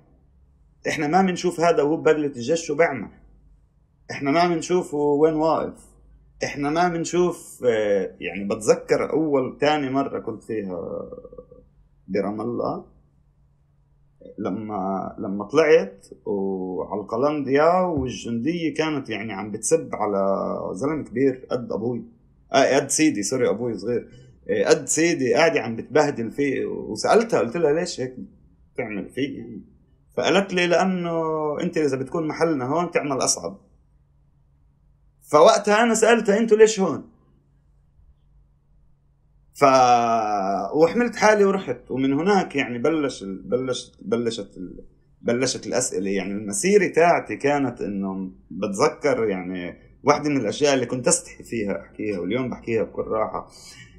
إحنا ما بنشوف هذا وهو ببلة الجيش شو بيعمل، إحنا ما بنشوفه وين واقف، إحنا ما بنشوف. يعني بتذكر أول تاني مرة كنت فيها برام الله، لما طلعت وعلى القلنديا والجندية كانت يعني عم بتسب على زلمة كبير قد أبوي، قد سيدي، سوري أبوي صغير، قد سيدي، قاعدة عم بتبهدل فيه. وسألتها قلت لها ليش هيك تعمل فيه يعني؟ فقالت لي لأنه أنت إذا بتكون محلنا هون تعمل أصعب. فوقتها أنا سألتها أنتوا ليش هون؟ وحملت حالي ورحت. ومن هناك يعني بلشت الأسئلة. يعني المسيرة تاعتي كانت إنه بتذكر يعني واحدة من الأشياء اللي كنت أستحي فيها أحكيها واليوم بحكيها بكل راحة،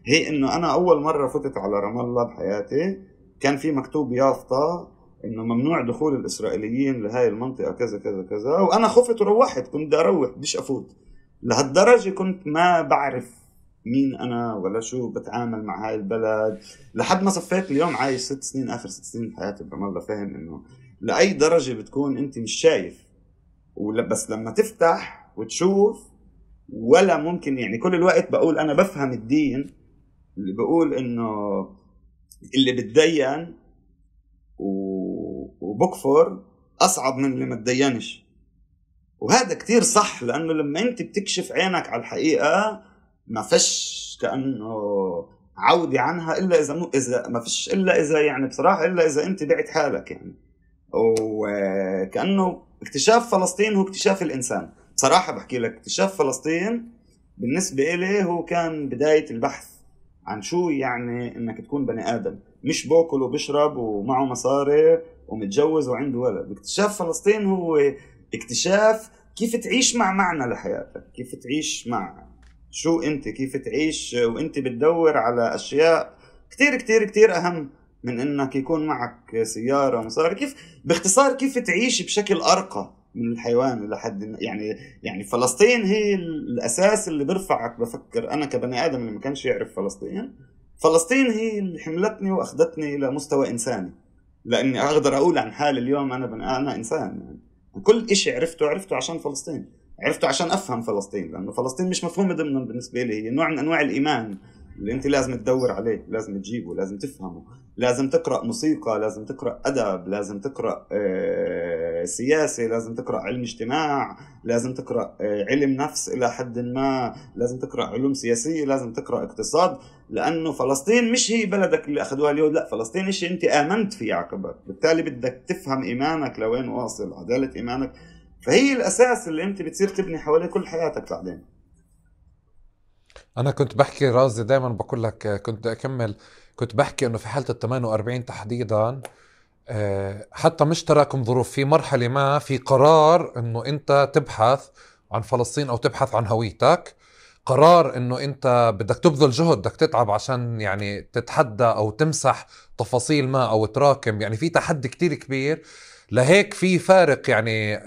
هي إنه أنا أول مرة فتت على رام الله بحياتي كان في مكتوب يافطة إنه ممنوع دخول الإسرائيليين لهاي المنطقة كذا كذا كذا. وأنا خفت وروحت، كنت بدي أروح بديش أفوت. لهالدرجة كنت ما بعرف مين أنا ولا شو بتعامل مع هاي البلد، لحد ما صفيت اليوم عايش 6 سنين، آخر 6 سنين حياتي برام الله، فاهم إنه لأي درجة بتكون أنت مش شايف، بس لما تفتح وتشوف ولا ممكن. يعني كل الوقت بقول أنا بفهم الدين اللي بقول إنه اللي بتدين وبكفر أصعب من اللي ما تدينش، وهذا كتير صح. لأنه لما أنت بتكشف عينك على الحقيقة ما فيش كأنه عودي عنها إلا إذا ما فيش إلا إذا يعني بصراحة إلا إذا أنت بعت حالك يعني. وكأنه اكتشاف فلسطين هو اكتشاف الإنسان. بصراحة بحكي لك اكتشاف فلسطين بالنسبة إلي هو كان بداية البحث عن شو يعني إنك تكون بني آدم، مش باكل وبشرب ومعه مصاري ومتجوز وعنده ولد. اكتشاف فلسطين هو اكتشاف كيف تعيش مع معنى لحياتك، كيف تعيش مع شو انت، كيف تعيش وانت بتدور على اشياء كتير كتير كتير اهم من انك يكون معك سيارة ومصاري. كيف باختصار كيف تعيش بشكل ارقى من الحيوان لحد يعني فلسطين هي الاساس اللي برفعك. بفكر انا كبني ادم اللي ما كانش يعرف فلسطين هي اللي حملتني واخذتني الى مستوى انساني، لاني اقدر اقول عن حالي اليوم انا انسان يعني. كل اشي عرفته عشان فلسطين، عرفته عشان افهم فلسطين، لانه فلسطين مش مفهومه ضمن بالنسبه لي، هي نوع من انواع الايمان اللي انت لازم تدور عليه، لازم تجيبه، لازم تفهمه، لازم تقرا موسيقى، لازم تقرا ادب، لازم تقرا سياسه، لازم تقرا علم اجتماع، لازم تقرا علم نفس الى حد ما، لازم تقرا علوم سياسيه، لازم تقرا اقتصاد. لانه فلسطين مش هي بلدك اللي اخذوها اليهود، لا، فلسطين شيء انت امنت فيه عقبك، بالتالي بدك تفهم ايمانك لوين واصل، عداله ايمانك. فهي الأساس اللي أنت بتصير تبني حواليه كل حياتك بعدين. أنا كنت بحكي رازي دايما بقول لك، كنت أكمل، كنت بحكي إنه في حالة 48 تحديدا حتى مش تراكم ظروف، في مرحلة ما في قرار إنه أنت تبحث عن فلسطين أو تبحث عن هويتك، قرار إنه أنت بدك تبذل جهد، بدك تتعب عشان يعني تتحدى أو تمسح تفاصيل ما أو تراكم، يعني في تحدي كتير كبير. لهيك في فارق يعني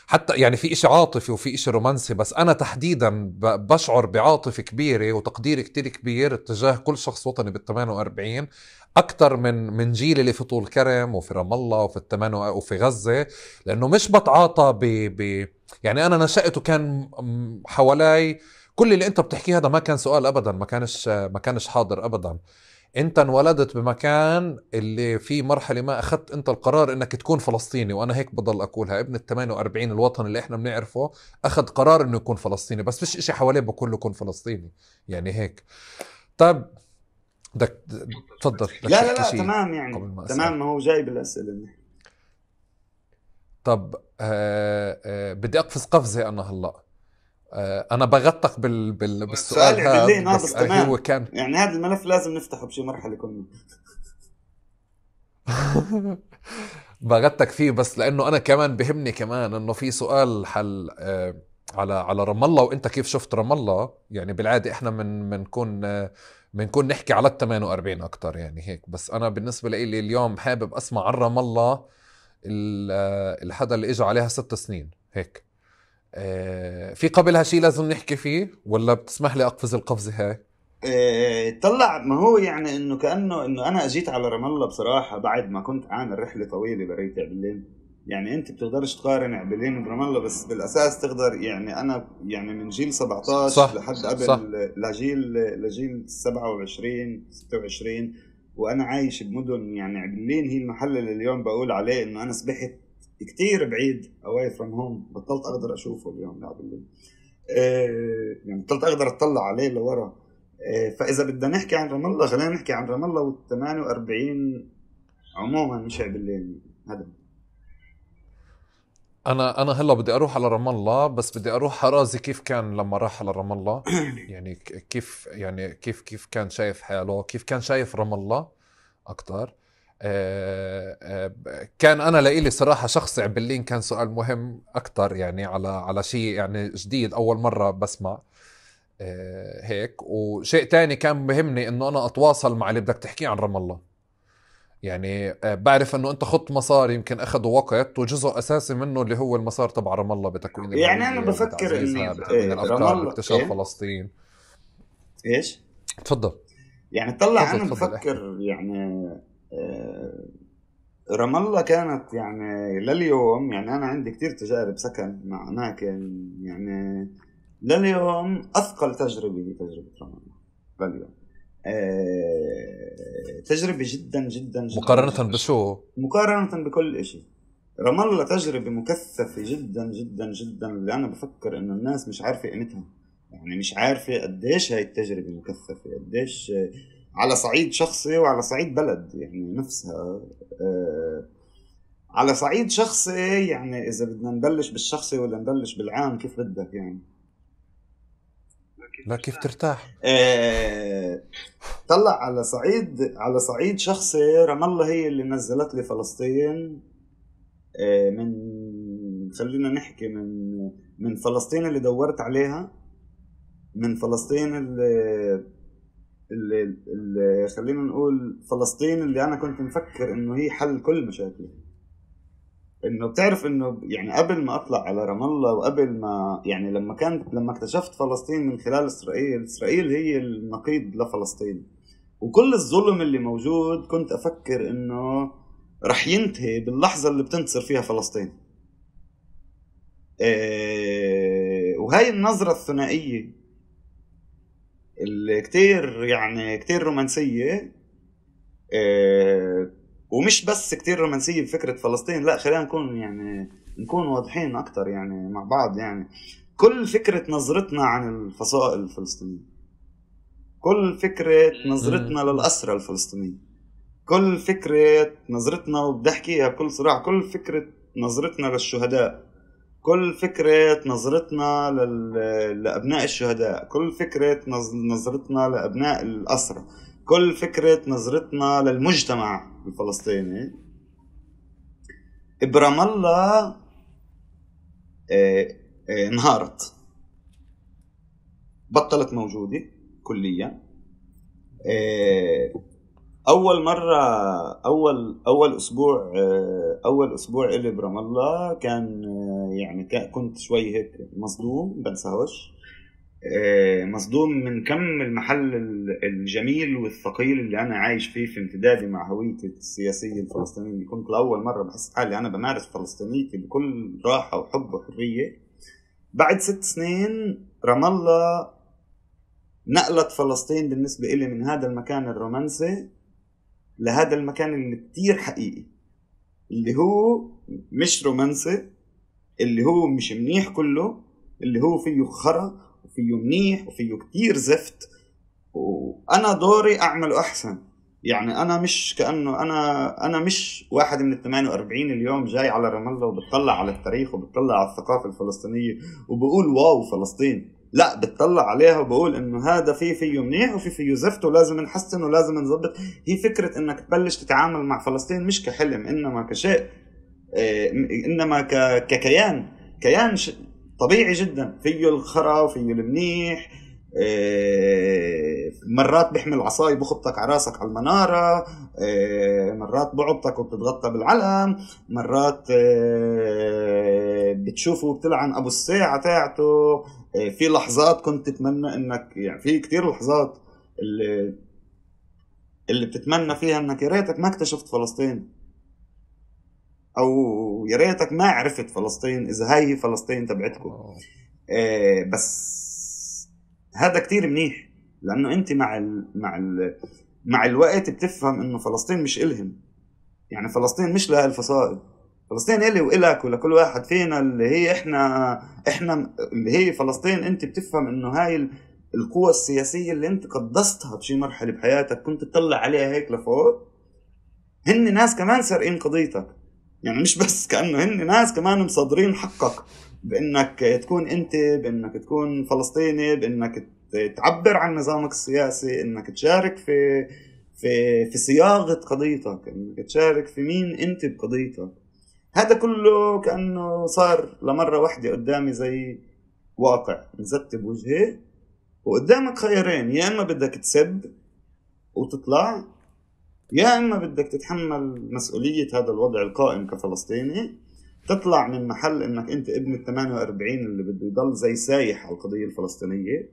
حتى يعني في إشي عاطفي وفي إشي رومانسي، بس أنا تحديدا بشعر بعاطفة كبيرة وتقدير كتير كبير اتجاه كل شخص وطني بال48 أكتر من جيل اللي في طول كرم وفي رام الله وفي غزة، لأنه مش بتعاطى يعني أنا نشأت وكان حوالي كل اللي أنت بتحكيه هذا ما كان سؤال أبدا، ما كانش حاضر أبدا. انت انولدت بمكان اللي في مرحلة ما اخذت انت القرار انك تكون فلسطيني، وانا هيك بضل اقولها. ابن ال 48 الوطن اللي احنا بنعرفه اخذ قرار انه يكون فلسطيني، بس فيش اشي حواليه بقول له كون فلسطيني، يعني هيك. طيب بدك تفضل، بدك لا لا تحكي لا شيء تمام قبل يعني ما تمام، اسال؟ ما هو جاي بالاسئله. طب بدي اقفز قفزة انا هلا. انا بغطك بالسؤال سؤال هذا، عبلين بس بس هو تمام. كان يعني هذا الملف لازم نفتحه بشي مرحله كنا. بغتك فيه، بس لانه انا كمان بهمني كمان انه في سؤال حل على رام الله، وانت كيف شفت رام الله. يعني بالعاده احنا بنكون نحكي على ال 48 اكثر يعني هيك، بس انا بالنسبه لي اليوم حابب اسمع عن رام الله الحدا اللي اجى عليها 6 سنين هيك. في قبلها شيء لازم نحكي فيه، ولا بتسمح لي اقفز القفزه هاي؟ طلع ما هو يعني انه كانه انه انا اجيت على رام الله بصراحه بعد ما كنت عامل رحله طويله بريت عبلين. يعني انت بتقدرش تقارن عبلين برام الله، بس بالاساس تقدر. يعني انا يعني من جيل 17 صح لحد صح. قبل لجيل 27 26، وانا عايش بمدن. يعني عبلين هي المحل اللي اليوم بقول عليه انه انا سبحت كتير بعيد اواي فروم هوم. بطلت اقدر اشوفه اليوم عبلين. يعني بطلت اقدر اطلع عليه لورا. فاذا بدنا نحكي عن رام الله، خلينا نحكي عن رام الله وال 48 عموما، مش عبلين هذا. انا هلا بدي اروح على رام الله، بس بدي اروح حرازي كيف كان لما راح على رام الله. يعني كيف كان شايف حاله، كيف كان شايف رام الله اكتر. كان انا لإلي صراحة شخصي عبلين كان سؤال مهم اكتر، يعني على شيء يعني جديد اول مرة بسمع هيك. وشيء تاني كان بهمني انه انا اتواصل مع اللي بدك تحكيه عن رام الله. يعني بعرف انه انت خط مسار يمكن اخذوا وقت، وجزء اساسي منه اللي هو المسار تبع رام الله بتكوين يعني انا الهوية بفكر بتعزيزها انه بتكوين رام الافكار الله باكتشاف ايه فلسطين. ايش. تفضل يعني طلع انا تفضل احكي. بفكر يعني رام الله كانت يعني لليوم. يعني انا عندي كتير تجارب سكن مع اماكن. يعني لليوم اثقل تجربه هي تجربه رام الله لليوم. تجربة جدا جدا جدا مقارنة جدا بشو؟ مقارنة بكل اشي. رام الله تجربة مكثفة جدا جدا جدا، اللي انا بفكر انه الناس مش عارفة قيمتها. يعني مش عارفة قديش هاي التجربة مكثفة، قديش على صعيد شخصي وعلى صعيد بلد يعني نفسها. على صعيد شخصي، يعني اذا بدنا نبلش بالشخصي ولا نبلش بالعام كيف بدك يعني. لا كيف ترتاح. طلع على صعيد شخصي. رام الله هي اللي نزلت لي فلسطين. من خلينا نحكي من فلسطين اللي دورت عليها، من فلسطين اللي خلينا نقول فلسطين اللي انا كنت مفكر انه هي حل كل مشاكلي. انه بتعرف انه يعني قبل ما اطلع على رام الله، وقبل ما يعني لما اكتشفت فلسطين من خلال اسرائيل هي النقيض لفلسطين. وكل الظلم اللي موجود كنت افكر انه رح ينتهي باللحظة اللي بتنتصر فيها فلسطين. وهاي النظرة الثنائية اللي كتير رومانسية. ومش بس كتير رومانسية بفكرة فلسطين، لا خلينا نكون واضحين أكتر يعني مع بعض. يعني كل فكرة نظرتنا عن الفصائل الفلسطينية، كل فكرة نظرتنا للأسرى الفلسطينيين، كل فكرة نظرتنا، وبدي أحكيها بكل صراحة، كل فكرة نظرتنا للشهداء، كل فكرة نظرتنا لأبناء الشهداء، كل فكرة نظرتنا لأبناء الأسرى، كل فكرة نظرتنا للمجتمع الفلسطيني. برام الله انهارت، بطلت موجودة كليا. أول مرة أول أسبوع إلي برام الله كان يعني كنت شوي هيك مصدوم، بنساهوش. مصدوم من كم المحل الجميل والثقيل اللي أنا عايش فيه في امتدادي مع هويتي السياسية الفلسطينية. كنت لأول مرة بحس حالي أنا بمارس فلسطينيتي بكل راحة وحب وحرية. بعد 6 سنين رام الله نقلت فلسطين بالنسبة إلي من هذا المكان الرومانسي لهذا المكان اللي كتير حقيقي، اللي هو مش رومانسي، اللي هو مش منيح كله، اللي هو فيه خرا وفيه منيح وفيه كتير زفت، وأنا دوري أعمله أحسن. يعني أنا مش كأنه أنا مش واحد من 48 اليوم جاي على رام الله وبتطلع على التاريخ وبتطلع على الثقافة الفلسطينية وبقول واو فلسطين. لا، بتطلع عليها وبقول إنه هذا فيه منيح وفيه زفت ولازم نحسن ولازم نظبط. هي فكرة إنك تبلش تتعامل مع فلسطين مش كحلم، إنما كشيء، إنما ككيان طبيعي جدا، فيه الخرا وفيه المنيح. مرات بيحمل عصاي بخبطك على راسك على المنارة، مرات بعبطك وبتتغطى بالعلم، مرات بتشوفه وبتلعن أبو الساعة تاعته. في لحظات كنت تتمنى إنك، يعني في كتير لحظات اللي بتتمنى فيها إنك يا ريتك ما اكتشفت فلسطين، أو يا ريتك ما عرفت فلسطين إذا هاي فلسطين تبعتكم. بس هذا كتير منيح، لأنه أنت مع الوقت بتفهم إنه فلسطين مش إلهم. يعني فلسطين مش لها الفصائل، فلسطين إلي وإلك ولكل واحد فينا، اللي هي إحنا اللي هي فلسطين. أنت بتفهم إنه هاي القوة السياسية اللي أنت قدستها بشي مرحلة بحياتك، كنت تطلع عليها هيك لفوق، هن ناس كمان سارقين قضيتك. يعني مش بس كأنه هن ناس كمان مصدرين حقك بأنك تكون أنت، بأنك تكون فلسطيني، بأنك تعبر عن نظامك السياسي، أنك تشارك في صياغة قضيتك، أنك تشارك في مين أنت بقضيتك. هذا كله كأنه صار لمرة واحدة قدامي زي واقع مزت بوجهي، وقدامك خيارين: يا إما بدك تسب وتطلع، يا إما بدك تتحمل مسؤولية هذا الوضع القائم كفلسطيني، تطلع من محل إنك أنت ابن 48 اللي بده يضل زي سايح على القضية الفلسطينية،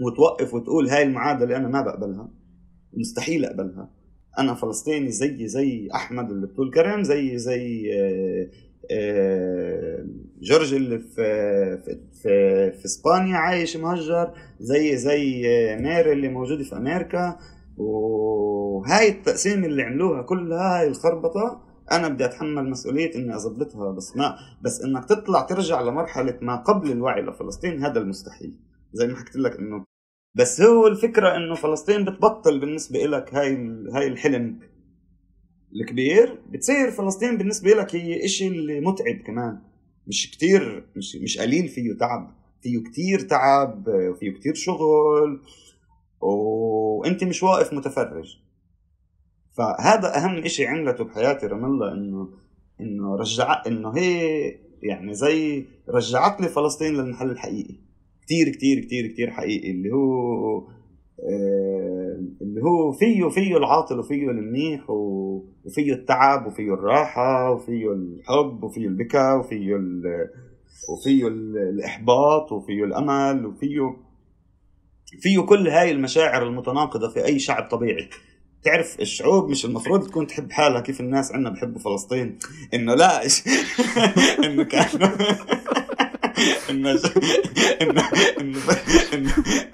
وتوقف وتقول هاي المعادلة أنا ما بقبلها، مستحيل أقبلها. أنا فلسطيني زي أحمد اللي بطول كرم، زي جورج اللي في إسبانيا عايش مهجر، زي ميري اللي موجودة في أمريكا. وهاي التقسيم اللي عملوها كلها، هاي الخربطة، أنا بدي أتحمل مسؤولية إني أضبطها. بس إنك تطلع ترجع لمرحلة ما قبل الوعي لفلسطين، هذا المستحيل. زي ما حكيت لك إنه بس هو الفكرة إنه فلسطين بتبطل بالنسبة إلك هاي الحلم الكبير، بتصير فلسطين بالنسبة لك هي إشي اللي متعب كمان، مش كتير، مش قليل، فيه تعب، فيه كتير تعب، وفيه كتير شغل، وانت مش واقف متفرج. فهذا اهم اشي عملته بحياتي رام الله، انه هي يعني زي رجعت لي فلسطين للمحل الحقيقي، كتير كتير كتير كتير حقيقي، اللي هو فيه العاطل وفيه المنيح وفيه التعب وفيه الراحة وفيه الحب وفيه البكاء وفيه الإحباط وفيه الأمل وفيه كل هاي المشاعر المتناقضة في أي شعب طبيعي. تعرف الشعوب مش المفروض تكون تحب حالها كيف الناس عنا بحبوا فلسطين، إنه لا إنه كانوا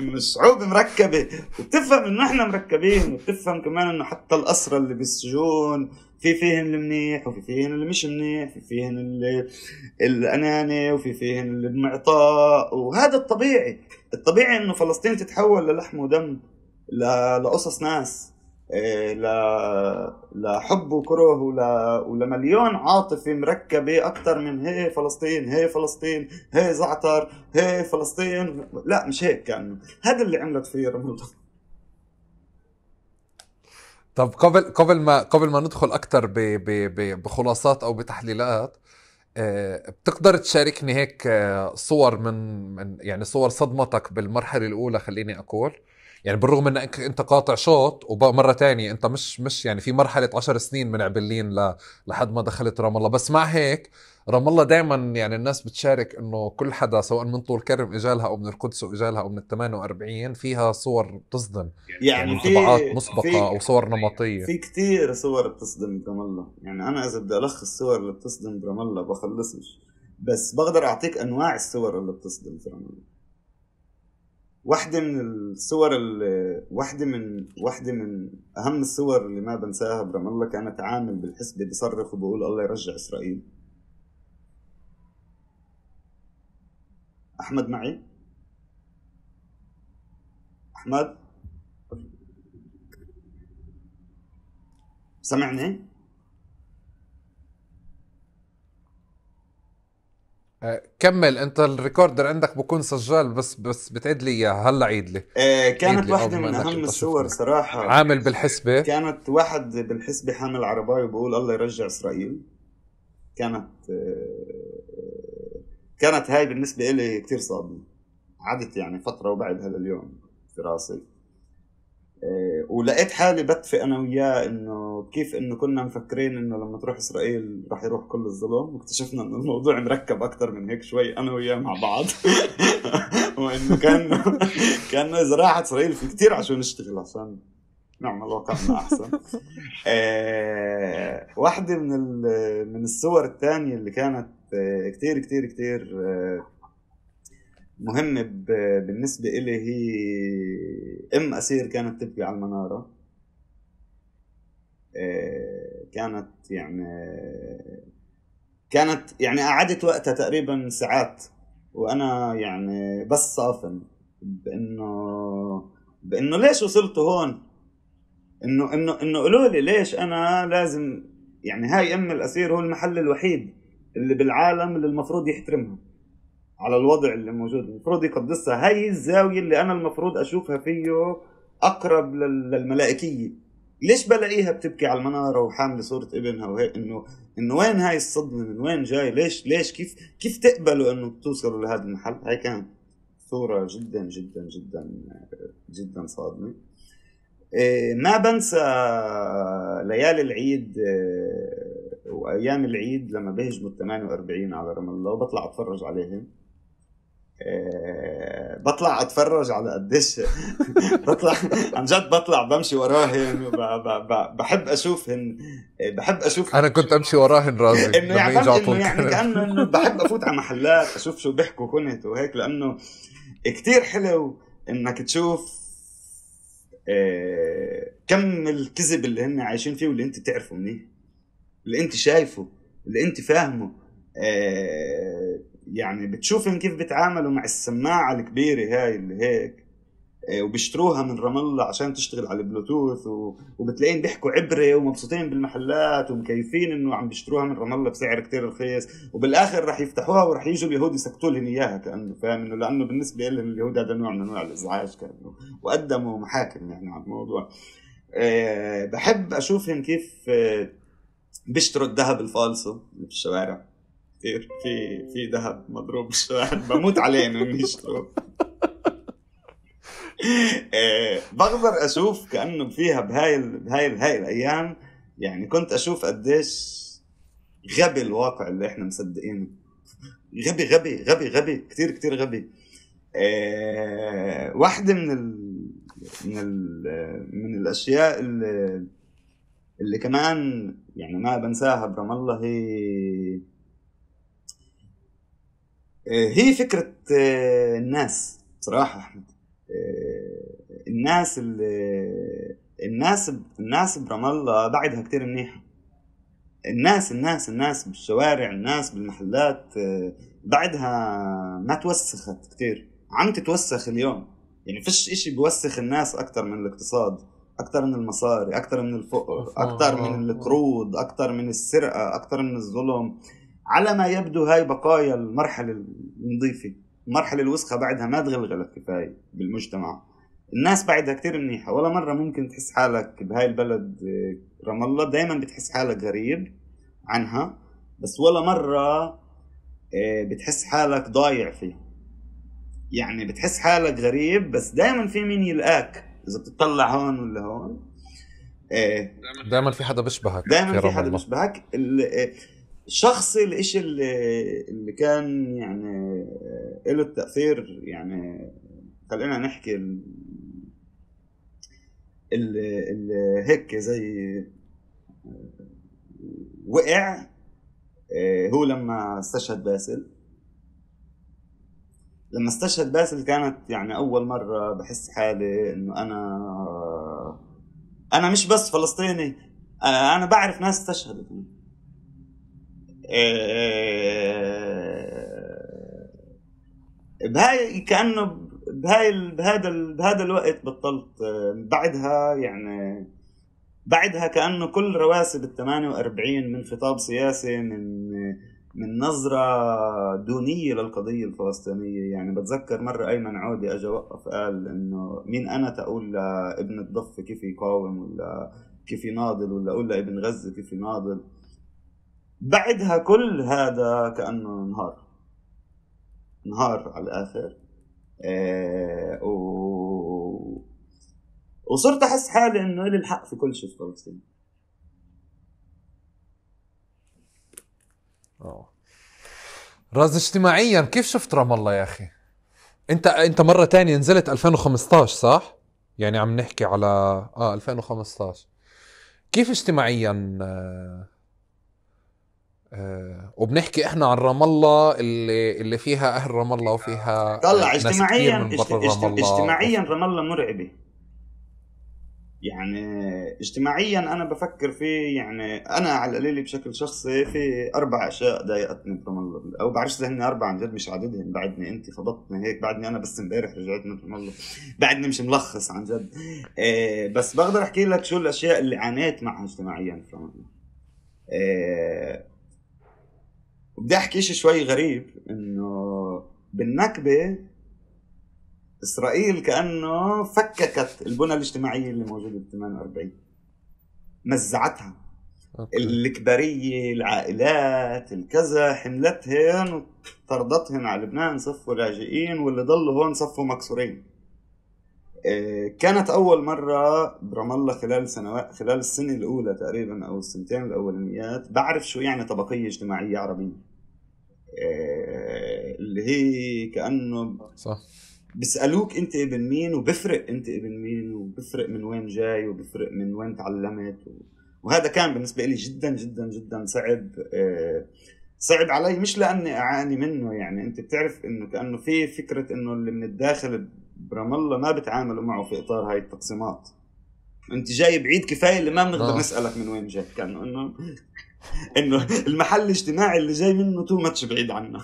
إنه الشعوب مركبة، وتفهم إنه إحنا مركبين، وتفهم كمان إنه حتى الأسرى اللي بالسجون فيهن المنيح وفي فيهن اللي مش منيح، في فيهن الأناني وفي فيهن اللي بمعطاء. وهذا الطبيعي إنه فلسطين تتحول للحم ودم، لقصص ناس، لحب وكره ولمليون عاطفة مركبة أكتر من هي فلسطين، هي فلسطين، هي زعتر، هي فلسطين. لا، مش هيك كأنه. هذا اللي عملت فيه رام الله. طب قبل ما ندخل أكتر بخلاصات أو بتحليلات، بتقدر تشاركني هيك صور من يعني صور صدمتك بالمرحلة الأولى؟ خليني أقول يعني بالرغم انك انت قاطع شوط، ومرة تانية انت مش يعني في مرحلة 10 سنين من عبلين لحد ما دخلت رام الله، بس مع هيك رام الله دائما يعني الناس بتشارك انه كل حدا سواء من طول كرم اجالها او من القدس واجالها او من 48 فيها صور بتصدم، يعني انطباعات مسبقة او صور نمطية. في كتير صور بتصدم برام الله. يعني انا اذا بدي الخص الصور اللي بتصدم برام الله بخلصش، بس بقدر اعطيك انواع الصور اللي بتصدم برام الله. واحدة من الصور واحدة من أهم الصور اللي ما بنساها برام الله كانت عامل بالحسبة بيصرخ وبقول الله يرجع إسرائيل. أحمد معي؟ أحمد سمعني؟ كمل انت، الريكوردر عندك بكون سجال، بس بتعيد لي اياها هلا، عيد لي. كانت واحدة من أهم الصور صراحة. عامل بالحسبة، كانت واحد بالحسبة حامل عرباية وبقول الله يرجع إسرائيل. كانت هاي بالنسبة إلي كتير صادمة، عدت يعني فترة وبعد هذا اليوم في راسي. ولقيت حالي بتفق أنا وياه إنه كيف إنه كنا مفكرين إنه لما تروح إسرائيل راح يروح كل الظلم، واكتشفنا إنه الموضوع مركب أكتر من هيك شوي أنا وياه مع بعض. وإنه كان إذا راحت إسرائيل في كتير عشان نشتغل عشان نعمل واقعنا أحسن. واحدة من الصور الثانية اللي كانت كتير كتير كتير مهمة بالنسبة إلي هي أسير كانت تبكي على المنارة. كانت يعني قعدت وقتها تقريبا ساعات وأنا يعني بس صافن بأنه ليش وصلت هون، إنه قالوا لي ليش أنا لازم، يعني هاي الأسير هو المحل الوحيد اللي بالعالم اللي المفروض يحترمها على الوضع اللي موجود، المفروض يقدسها. هاي الزاوية اللي أنا المفروض أشوفها فيه أقرب للملائكية، ليش بلاقيها بتبكي على المنارة وحاملة صورة ابنها وهيك؟ إنه وين هاي الصدمة، من وين جاي، ليش كيف تقبلوا إنه توصلوا لهذا المحل؟ هاي كانت صورة جدا جدا جدا جدا صادمة. ما بنسى ليالي العيد وأيام العيد لما بهجموا 48 على رام الله وبطلع أتفرج عليهم. بطلع أتفرج على قديش بطلع عن جد، بطلع بمشي وراهن، بحب أشوفهن، أنا كنت أمشي وراهن رازي إنه يعني كأنه بحب أفوت على محلات أشوف شو بيحكوا كنت وهيك، لأنه كتير حلو إنك تشوف كم الكذب اللي هن عايشين فيه واللي انت تعرفه منيه، اللي انت شايفه، اللي انت فاهمه. يعني بتشوفهم كيف بيتعاملوا مع السماعة الكبيرة هاي اللي هيك، وبيشتروها من رام الله عشان تشتغل على البلوتوث، وبتلاقين بيحكوا عبرة ومبسوطين بالمحلات ومكيفين انه عم بيشتروها من رام الله بسعر كتير رخيص، وبالاخر رح يفتحوها ورح يجوا اليهود يسكتوا لهم اياها كأنه فاهم انه، لانه بالنسبة لهم اليهود هذا نوع من انواع الازعاج كأنه، وقدموا محاكم يعني على الموضوع. بحب اشوفهم كيف بيشتروا الذهب الفالصو في الشوارع، كتير في ذهب مضروب بالشوارع بموت عليه انه يشتروه. بقدر اشوف كأنه فيها بهاي الايام، يعني كنت اشوف قديش غبي الواقع اللي احنا مصدقينه، غبي غبي غبي غبي كتير كتير غبي. واحدة من الاشياء اللي كمان يعني ما بنساها برام الله هي فكرة الناس صراحة أحمد. الناس برام الله بعدها كتير منيحة. الناس بالشوارع، الناس بالمحلات بعدها ما توسخت كتير، عم تتوسخ اليوم. يعني فيش اشي بيوسخ الناس اكتر من الاقتصاد، اكتر من المصاري، اكتر من الفقر، اكتر من القروض، اكتر من السرقة، اكتر من الظلم. على ما يبدو هاي بقايا المرحلة النظيفة، المرحلة الوسخة بعدها ما تغلغلت كفاية بالمجتمع. الناس بعدها كتير منيحة، ولا مرة ممكن تحس حالك بهاي البلد رام الله دايما بتحس حالك غريب عنها، بس ولا مرة بتحس حالك ضايع فيه. يعني بتحس حالك غريب بس دايما في مين يلقاك إذا بتطلع هون ولا هون. دايما في حدا بيشبهك، دايما في حدا بيشبهك. شخصي الاشي اللي كان يعني له التأثير، يعني خلينا نحكي اللي هيك زي وقع، هو لما استشهد باسل. لما استشهد باسل كانت يعني أول مرة بحس حالي إنه أنا مش بس فلسطيني، أنا بعرف ناس استشهدت. بهاي كأنه بهذا الوقت بطلت. بعدها يعني بعدها كأنه كل رواسب ال48 من خطاب سياسي، من نظرة دونية للقضية الفلسطينية. يعني بتذكر مرة أيمن عودي أجا وقف قال إنه مين أنا تقول لابن الضفة كيف يقاوم ولا كيف يناضل، ولا أقول لابن غزة كيف يناضل. بعدها كل هذا كأنه نهار على الآخر. وصرت أحس حالي إنه لي الحق في كل شيء في فلسطين. راز اجتماعيا كيف شفت رام الله يا أخي؟ أنت مرة تانية نزلت 2015 صح؟ يعني عم نحكي على 2015. كيف اجتماعيا وبنحكي احنا عن رام الله اللي فيها اهل رام الله وفيها طلع ناس اجتماعيا كتير من برا رام الله. اجتماعيا رام الله مرعبة. يعني اجتماعيا انا بفكر فيه، يعني انا على القليل بشكل شخصي في 4 اشياء ضايقتني برام الله، او بعرفش اذا هن 4 عن جد مش عددهم. بعدني انت خبطتني هيك، بعدني انا بس امبارح رجعت من رام الله، بعدني مش ملخص عن جد. بس بقدر احكي لك شو الاشياء اللي عانيت معها اجتماعيا في رام الله. بدي احكي شيء شوي غريب، انه بالنكبة إسرائيل كأنه فككت البنى الاجتماعية اللي موجودة ب 48، مزعتها. الكبارية، العائلات، الكذا، حملتهن وطردتهن على لبنان، صفوا لاجئين، واللي ضلوا هون صفوا مكسورين. كانت أول مرة برام الله خلال السنة الأولى تقريبا أو السنتين الأولانيات بعرف شو يعني طبقية اجتماعية عربية. اللي هي كأنه صح بيسألوك انت ابن مين، وبفرق انت ابن مين، وبفرق من وين جاي، وبفرق من وين تعلمت. وهذا كان بالنسبة لي جدا جدا جدا صعب علي، مش لأني أعاني منه. يعني انت بتعرف انه كأنه في فكرة انه اللي من الداخل برام الله ما بتعاملوا معه في إطار هاي التقسيمات. انت جاي بعيد كفاية اللي ما بنقدر نسألك من وين جاي، كأنه انه المحل الاجتماعي اللي جاي منه تو ماتش بعيد عنا.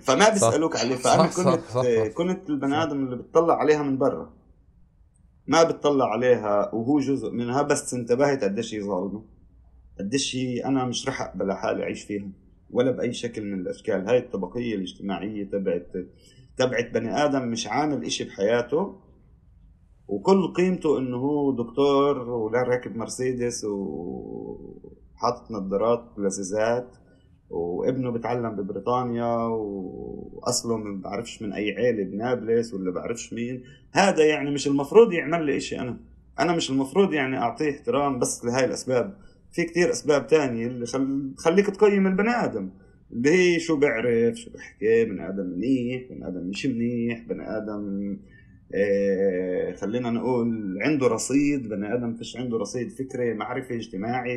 فما بيسألوك عليه. فأنا كنت البني آدم اللي بتطلع عليها من برا، ما بتطلع عليها وهو جزء منها. بس انتبهت قديش هي ظالمة، قديش هي أنا مش رح أقبل حالي أعيش فيها ولا بأي شكل من الأشكال. هاي الطبقية الاجتماعية تبعت بني آدم مش عامل إشي بحياته، وكل قيمته إنه هو دكتور ولا راكب مرسيدس وحاطط نظارات لزيزات، وابنه بتعلم ببريطانيا، واصله ما بعرفش من اي عيله بنابلس ولا بعرفش مين. هذا يعني مش المفروض يعمل لي اشي. انا مش المفروض يعني اعطيه احترام بس لهاي الاسباب. في كتير اسباب تانية اللي تخليك تقيم البني ادم، اللي هي شو بعرف، شو بحكي، بني ادم منيح، بني ادم مش منيح، بني ادم خلينا نقول عنده رصيد، بني ادم فيش عنده رصيد فكري، معرفي، اجتماعي،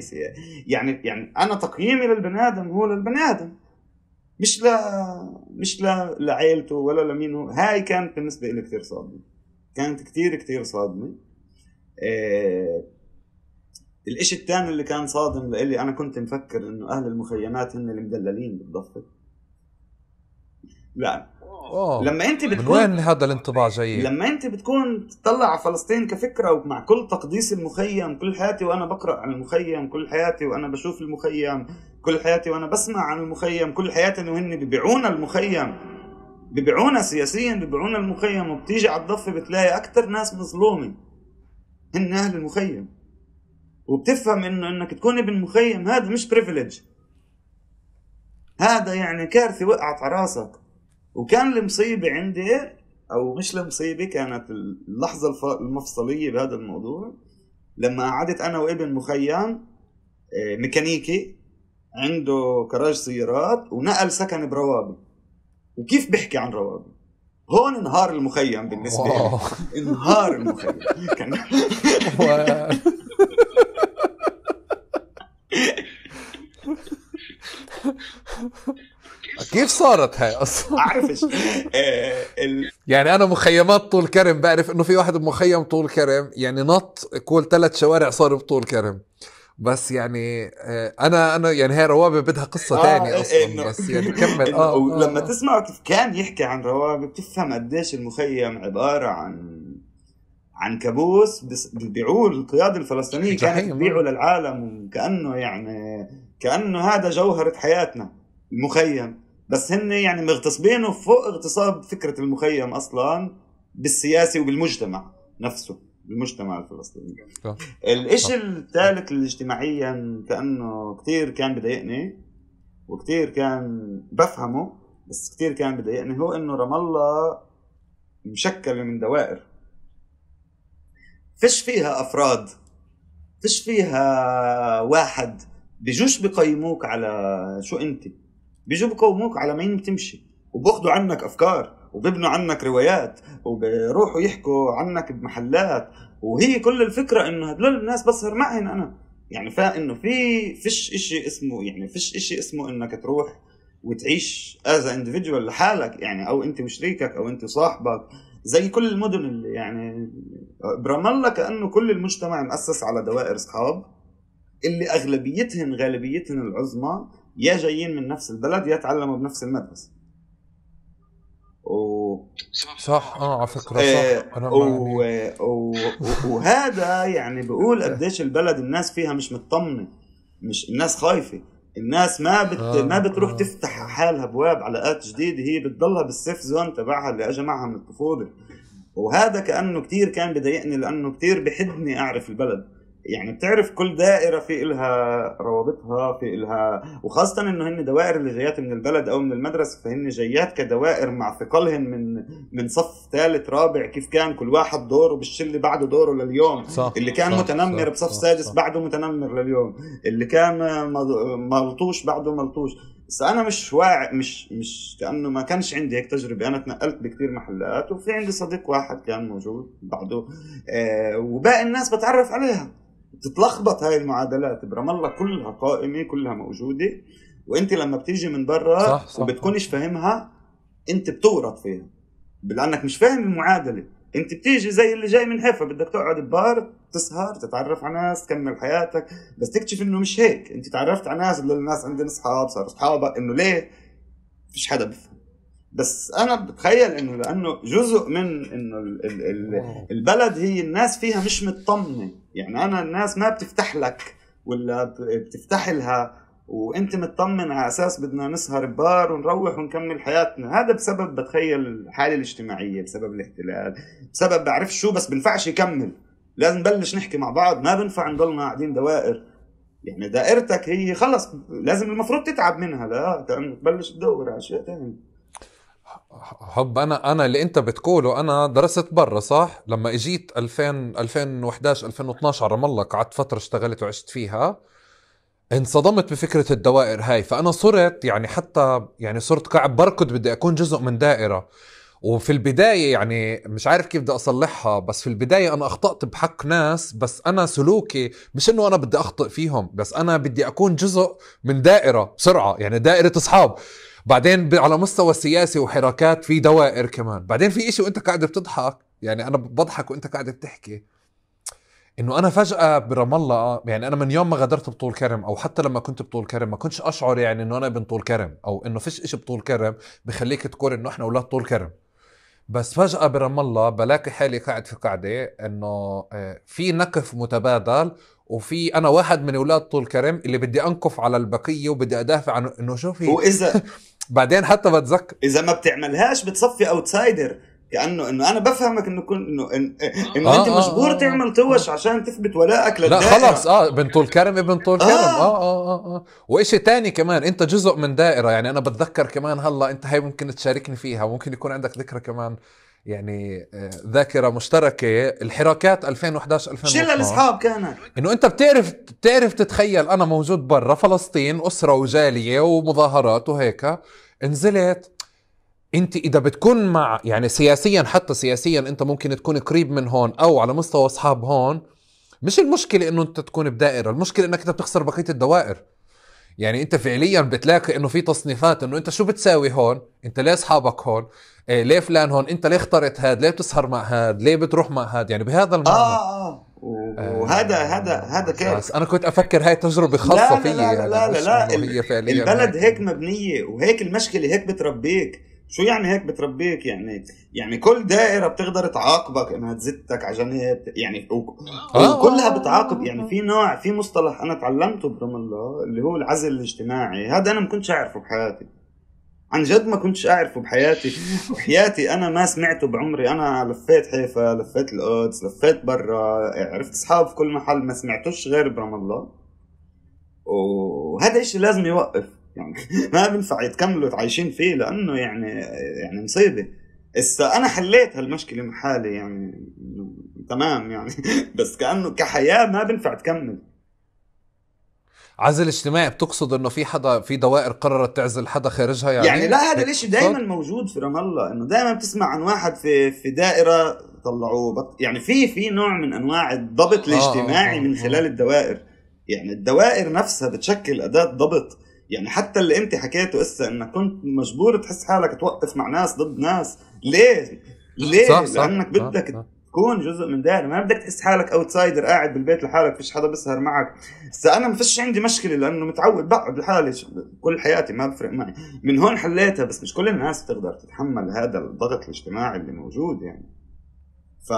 يعني انا تقييمي للبني ادم هو للبني ادم، مش لعائلته ولا لمينه. هاي كانت بالنسبه لي كثير صادمه، كانت كثير صادمه. الاشي الثاني اللي كان صادم لإلي، انا كنت مفكر انه اهل المخيمات هن اللي مدللين بالضفه. لا، لما انت بتكون من وين هذا الانطباع جاي؟ لما انت بتكون تطلع على فلسطين كفكره، ومع كل تقديس المخيم، كل حياتي وانا بقرا عن المخيم، كل حياتي وانا بشوف المخيم، كل حياتي وانا بسمع عن المخيم، كل حياتي انه هن بيبيعونا المخيم، بيبيعونا سياسيا، بيبيعونا المخيم. وبتيجي على الضفه بتلاقي اكثر ناس مظلومه هن اهل المخيم، وبتفهم انك تكون ابن مخيم هذا مش بريفيليج، هذا يعني كارثه وقعت على راسك. وكان المصيبة عندي، أو مش المصيبة، كانت اللحظة المفصلية بهذا الموضوع لما قعدت أنا وابن مخيم ميكانيكي عنده كراج سيارات ونقل سكن بروابي. وكيف بحكي عن روابي؟ هون انهار المخيم بالنسبة لي، انهار المخيم كان كيف صارت هاي اصلا؟ اعرفش يعني انا مخيمات طول كرم بعرف انه في واحد بمخيم طول كرم يعني نط كل 3 شوارع صار بطول كرم. بس يعني انا يعني هاي روابي بدها قصة تانية اصلا. بس يعني كمل. لما تسمع كيف كان يحكي عن روابي بتفهم قديش المخيم عبارة عن كابوس بيبيعوه القيادة الفلسطينية كانت تبيعه للعالم، وكأنه يعني كأنه هذا جوهرة حياتنا المخيم. بس هن يعني مغتصبينه فوق اغتصاب فكرة المخيم أصلا بالسياسي وبالمجتمع نفسه، بالمجتمع الفلسطيني. الاشي الثالث اللي اجتماعيا كأنه كتير كان بضايقني وكتير كان بفهمه بس كتير كان بضايقني هو انه رام الله مشكل من دوائر فيش فيها افراد، فيش فيها واحد بيجوش بقيموك على شو انت، بيجوا بقيموك على مين بتمشي، وباخدوا عنك افكار وبيبنوا عنك روايات وبيروحوا يحكوا عنك بمحلات. وهي كل الفكرة انه هدول الناس بسهر معهن انا يعني فانه فيش اشي اسمه يعني فيش اشي اسمه انك تروح وتعيش as a individual لحالك يعني، او انت وشريكك او انت صاحبك زي كل المدن اللي يعني برام الله. كأنه كل المجتمع مؤسس على دوائر اصحاب اللي غالبيتهن العظمى يا جايين من نفس البلد يا تعلموا بنفس المدرسة. صح على فكرة صح. أنا وهذا يعني بقول قديش البلد الناس فيها مش مطمنة، مش الناس خايفة، الناس ما بتروح تفتح حالها بواب علاقات جديدة، هي بتضلها بالسيف زون تبعها اللي اجى معها من الطفولة. وهذا كأنه كتير كان بضايقني لأنه كتير بحدني أعرف البلد. يعني بتعرف كل دائرة في إلها روابطها، في إلها، وخاصة إنه هن دوائر اللي جايات من البلد أو من المدرسة فهن جايات كدوائر مع ثقلهن من صف ثالث رابع، كيف كان كل واحد دوره بالشلة بعده دوره لليوم. اللي كان متنمر بصف سادس بعده متنمر لليوم، اللي كان ملطوش بعده ملطوش. بس أنا مش واعي، مش كأنه ما كانش عندي هيك تجربة. أنا تنقلت بكتير محلات وفي عندي صديق واحد كان موجود بعده وباقي الناس بتعرف عليها. تتلخبط هاي المعادلات برام الله كلها قائمة كلها موجودة، وانت لما بتيجي من برا وبتكونش فاهمها انت بتورط فيها لانك مش فاهم المعادلة. انت بتيجي زي اللي جاي من حيفا بدك تقعد ببار تسهر تتعرف على ناس تكمل حياتك، بس تكتشف انه مش هيك. انت تعرفت على ناس، الناس عندنا اصحاب صاروا اصحابك، انه ليه فيش حدا بفهم. بس انا بتخيل انه لانه جزء من انه البلد هي الناس فيها مش مطمنه. يعني انا الناس ما بتفتح لك ولا بتفتح لها وانت مطمن على اساس بدنا نسهر ببار ونروح ونكمل حياتنا. هذا بسبب بتخيل الحاله الاجتماعيه، بسبب الاحتلال، بسبب بعرف شو، بس بنفعش يكمل. لازم نبلش نحكي مع بعض، ما بنفع نضلنا قاعدين دوائر. يعني دائرتك هي خلص لازم المفروض تتعب منها لا تبلش تدور على اشياء ثانيه. حب انا اللي انت بتقوله انا درست برا صح. لما اجيت 2011 2012 على رام الله قعدت فتره اشتغلت وعشت فيها، انصدمت بفكره الدوائر هاي. فانا صرت يعني حتى يعني صرت قاعد بركض بدي اكون جزء من دائره. وفي البدايه يعني مش عارف كيف بدي اصلحها، بس في البدايه انا اخطأت بحق ناس، بس انا سلوكي مش انه انا بدي اخطئ فيهم، بس انا بدي اكون جزء من دائره بسرعه، يعني دائره اصحاب. بعدين على مستوى سياسي وحركات في دوائر كمان. بعدين في اشي وانت قاعد بتضحك، يعني انا بضحك وانت قاعد بتحكي انه انا فجأة برام الله، يعني انا من يوم ما غادرت بطول كرم او حتى لما كنت بطول كرم ما كنتش اشعر يعني انه انا ابن طول كرم او انه فيش اشي بطول كرم بخليك تقول انه احنا اولاد طول كرم. بس فجأة برام الله بلاقي حالي قاعد في قاعدة انه في نكف متبادل، وفي انا واحد من اولاد طول كرم اللي بدي انكف على البقية وبدي ادافع عنه انه شوفي. واذا بعدين حتى بتذكر اذا ما بتعملهاش بتصفي اوتسايدر، كأنه انا بفهمك انه انه انت مجبور تعمل توش عشان تثبت ولائك للدائرة. لا خلص ابن طول كرم ابن طول كرم. وإشي تاني كمان انت جزء من دائرة. يعني انا بتذكر كمان هلا انت هاي ممكن تشاركني فيها، ممكن يكون عندك ذكرى كمان يعني ذاكرة مشتركة. الحراكات 2011 2012 شلة الاصحاب كانت انه انت بتعرف تتخيل انا موجود برا فلسطين اسرة وجالية ومظاهرات وهيك، نزلت انت اذا بتكون مع يعني سياسيا، حتى سياسيا انت ممكن تكون قريب من هون او على مستوى اصحاب هون. مش المشكلة انه انت تكون بدائرة، المشكلة انك انت بتخسر بقية الدوائر. يعني انت فعليا بتلاقي انه في تصنيفات، انه انت شو بتساوي هون، انت ليه اصحابك هون، ليه فلان هون، انت ليه اخترت هاد، ليه بتسهر مع هاد، ليه بتروح مع هاد، يعني بهذا المعنى. وهذا بس كيف. انا كنت افكر هاي تجربة خاصة لا لا فيي، لا لا يعني لا لا, مش لا. انه هي فعليا البلد هيك هيك انه. مبنية، وهيك المشكلة هيك بتربيك. شو يعني هيك بتربيك؟ يعني كل دائرة بتقدر تعاقبك انها تزتك عشان هي يعني وكلها بتعاقب. يعني في نوع، في مصطلح انا تعلمته برام الله اللي هو العزل الاجتماعي. هذا انا ما كنتش اعرفه بحياتي، عن جد ما كنتش اعرفه بحياتي. وحياتي انا ما سمعته بعمري. انا لفيت حيفا، لفيت القدس، لفيت برا، عرفت اصحاب في كل محل، ما سمعتوش غير برام الله. وهذا الشيء لازم يوقف يعني. ما بنفع يتكملوا عايشين فيه، لانه يعني مصيبه. انا حليت هالمشكله مع حالي يعني تمام يعني. بس كانه كحياه ما بنفع تكمل. عزل اجتماعي بتقصد انه في حدا، في دوائر قررت تعزل حدا خارجها، يعني لا، يعني هذا هيك الاشي دايما بتقصد؟ موجود في رام الله، انه دايما بتسمع عن واحد في دائرة طلعوه يعني في نوع من انواع الضبط الاجتماعي من خلال الدوائر. يعني الدوائر نفسها بتشكل اداة ضبط. يعني حتى اللي انت حكيته اسا انك كنت مجبور تحس حالك توقف مع ناس ضد ناس. ليه؟ صح صح لانك بدك تكون جزء من دائرة، ما بدك تحس حالك اوتسايدر قاعد بالبيت لحالك فيش حدا بيسهر معك. انا ما فيش عندي مشكلة لانه متعود بقعد لحالي كل حياتي، ما بفرق معي. من هون حليتها. بس مش كل الناس تقدر تتحمل هذا الضغط الاجتماعي اللي موجود يعني. ف...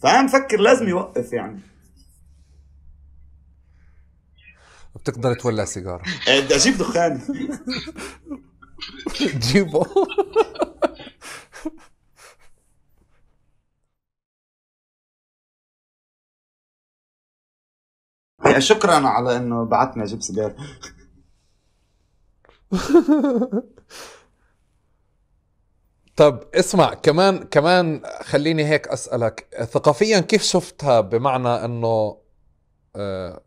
فأنا مفكر لازم يوقف يعني. بتقدر تولع سيجارة. بدي أجيب دخان. جيبه. شكرا على إنه بعتني أجيب سيجار. طب اسمع، كمان خليني هيك أسألك، ثقافيا كيف شفتها؟ بمعنى انه آه،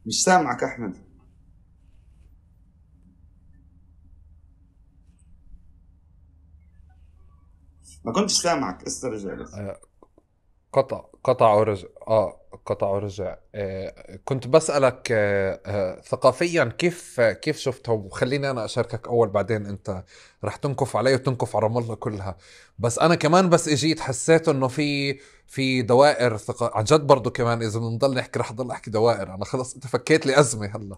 مش سامعك أحمد، ما كنتش سامعك. استرجع بس. قطع ورجع. قطع ورجع. كنت بسألك ثقافيا كيف شفتها، وخليني انا اشاركك اول، بعدين انت رح تنكف علي وتنكف على رام الله كلها. بس انا كمان بس اجيت حسيت انه في دوائر عن جد برضو. كمان اذا بنضل نحكي رح ضل احكي دوائر، انا خلص انت فكيت لي ازمة هلا.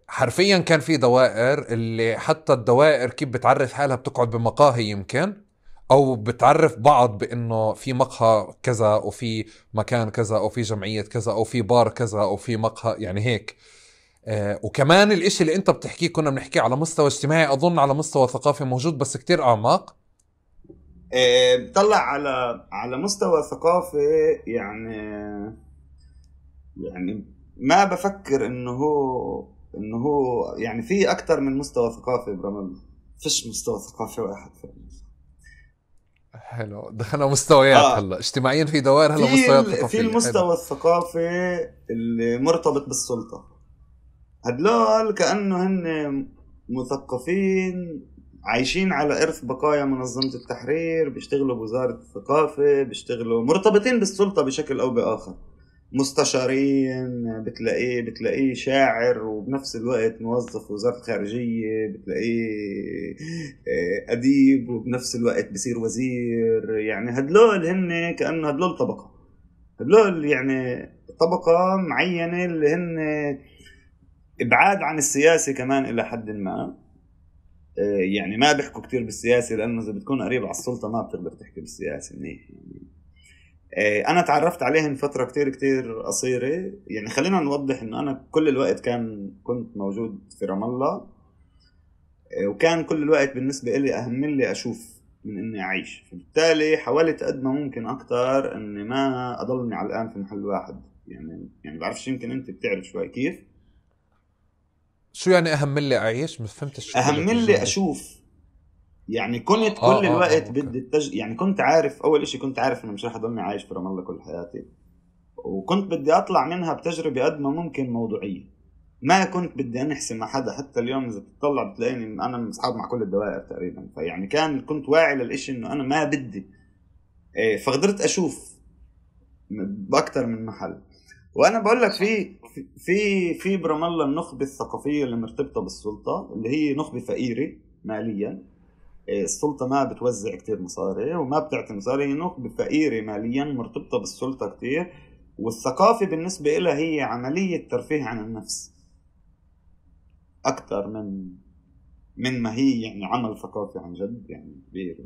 حرفيا كان في دوائر، اللي حتى الدوائر كيف بتعرف حالها، بتقعد بمقاهي يمكن، او بتعرف بعض بانه في مقهى كذا، او في مكان كذا، او في جمعية كذا، او في بار كذا، او في مقهى، يعني هيك. وكمان الاشي اللي انت بتحكيه كنا بنحكيه على مستوى اجتماعي، اظن على مستوى ثقافي موجود بس كتير اعماق. بطلع على مستوى ثقافي يعني ما بفكر انه هو يعني في اكتر من مستوى ثقافي برمل. فيش مستوى ثقافي واحد حلو، دخلنا مستويات هلا اجتماعيا، في دوائر هلا مستويات في ثقافية. حلو. المستوى الثقافي اللي مرتبط بالسلطة. هدول كأنه هن مثقفين عايشين على إرث بقايا منظمة التحرير، بيشتغلوا بوزارة الثقافة، بيشتغلوا مرتبطين بالسلطة بشكل أو بآخر. مستشارين، بتلاقيه شاعر وبنفس الوقت موظف وزارة الخارجية، بتلاقيه أديب وبنفس الوقت بصير وزير. يعني هدول هن كأنه هدول طبقة، هدول يعني طبقة معينة اللي هن ابعاد عن السياسة كمان إلى حد ما. يعني ما بيحكوا كتير بالسياسة، لأنه إذا بتكون قريب على السلطة ما بتقدر تحكي بالسياسة منيح يعني. أنا تعرفت عليهم فترة كتير كتير قصيرة. يعني خلينا نوضح إنه أنا كل الوقت كنت موجود في رام الله. وكان كل الوقت بالنسبة إلي أهم لي أشوف من إني أعيش. فبالتالي حاولت قد ما ممكن أكتر إني ما أضلني على الآن في محل واحد. يعني بعرفش، يمكن أنت بتعرف شوي كيف. شو يعني اهم لي اعيش؟ ما فهمتش شو أهم قلت لي الجملة. أشوف. يعني كنت كل الوقت اوكي. بدي يعني كنت عارف، أول إشي كنت عارف إنه مش رح أضلني عايش في رام الله كل حياتي. وكنت بدي أطلع منها بتجربة قد ما ممكن موضوعية. ما كنت بدي أنحسم مع حدا. حتى اليوم إذا تطلع بتلاقيني أنا مصحاب مع كل الدوائر تقريبا. فيعني كنت واعي للإشي إنه أنا ما بدي. فقدرت أشوف باكثر من محل. وانا بقول لك في برام الله النخبه الثقافيه اللي مرتبطه بالسلطه، اللي هي نخبه فقيره ماليا. السلطه ما بتوزع كتير مصاري وما بتعطي مصاري، هي نخبه فقيره ماليا مرتبطه بالسلطه كتير. والثقافه بالنسبه لها هي عمليه ترفيه عن النفس اكثر من ما هي يعني عمل ثقافي عن جد يعني كبير.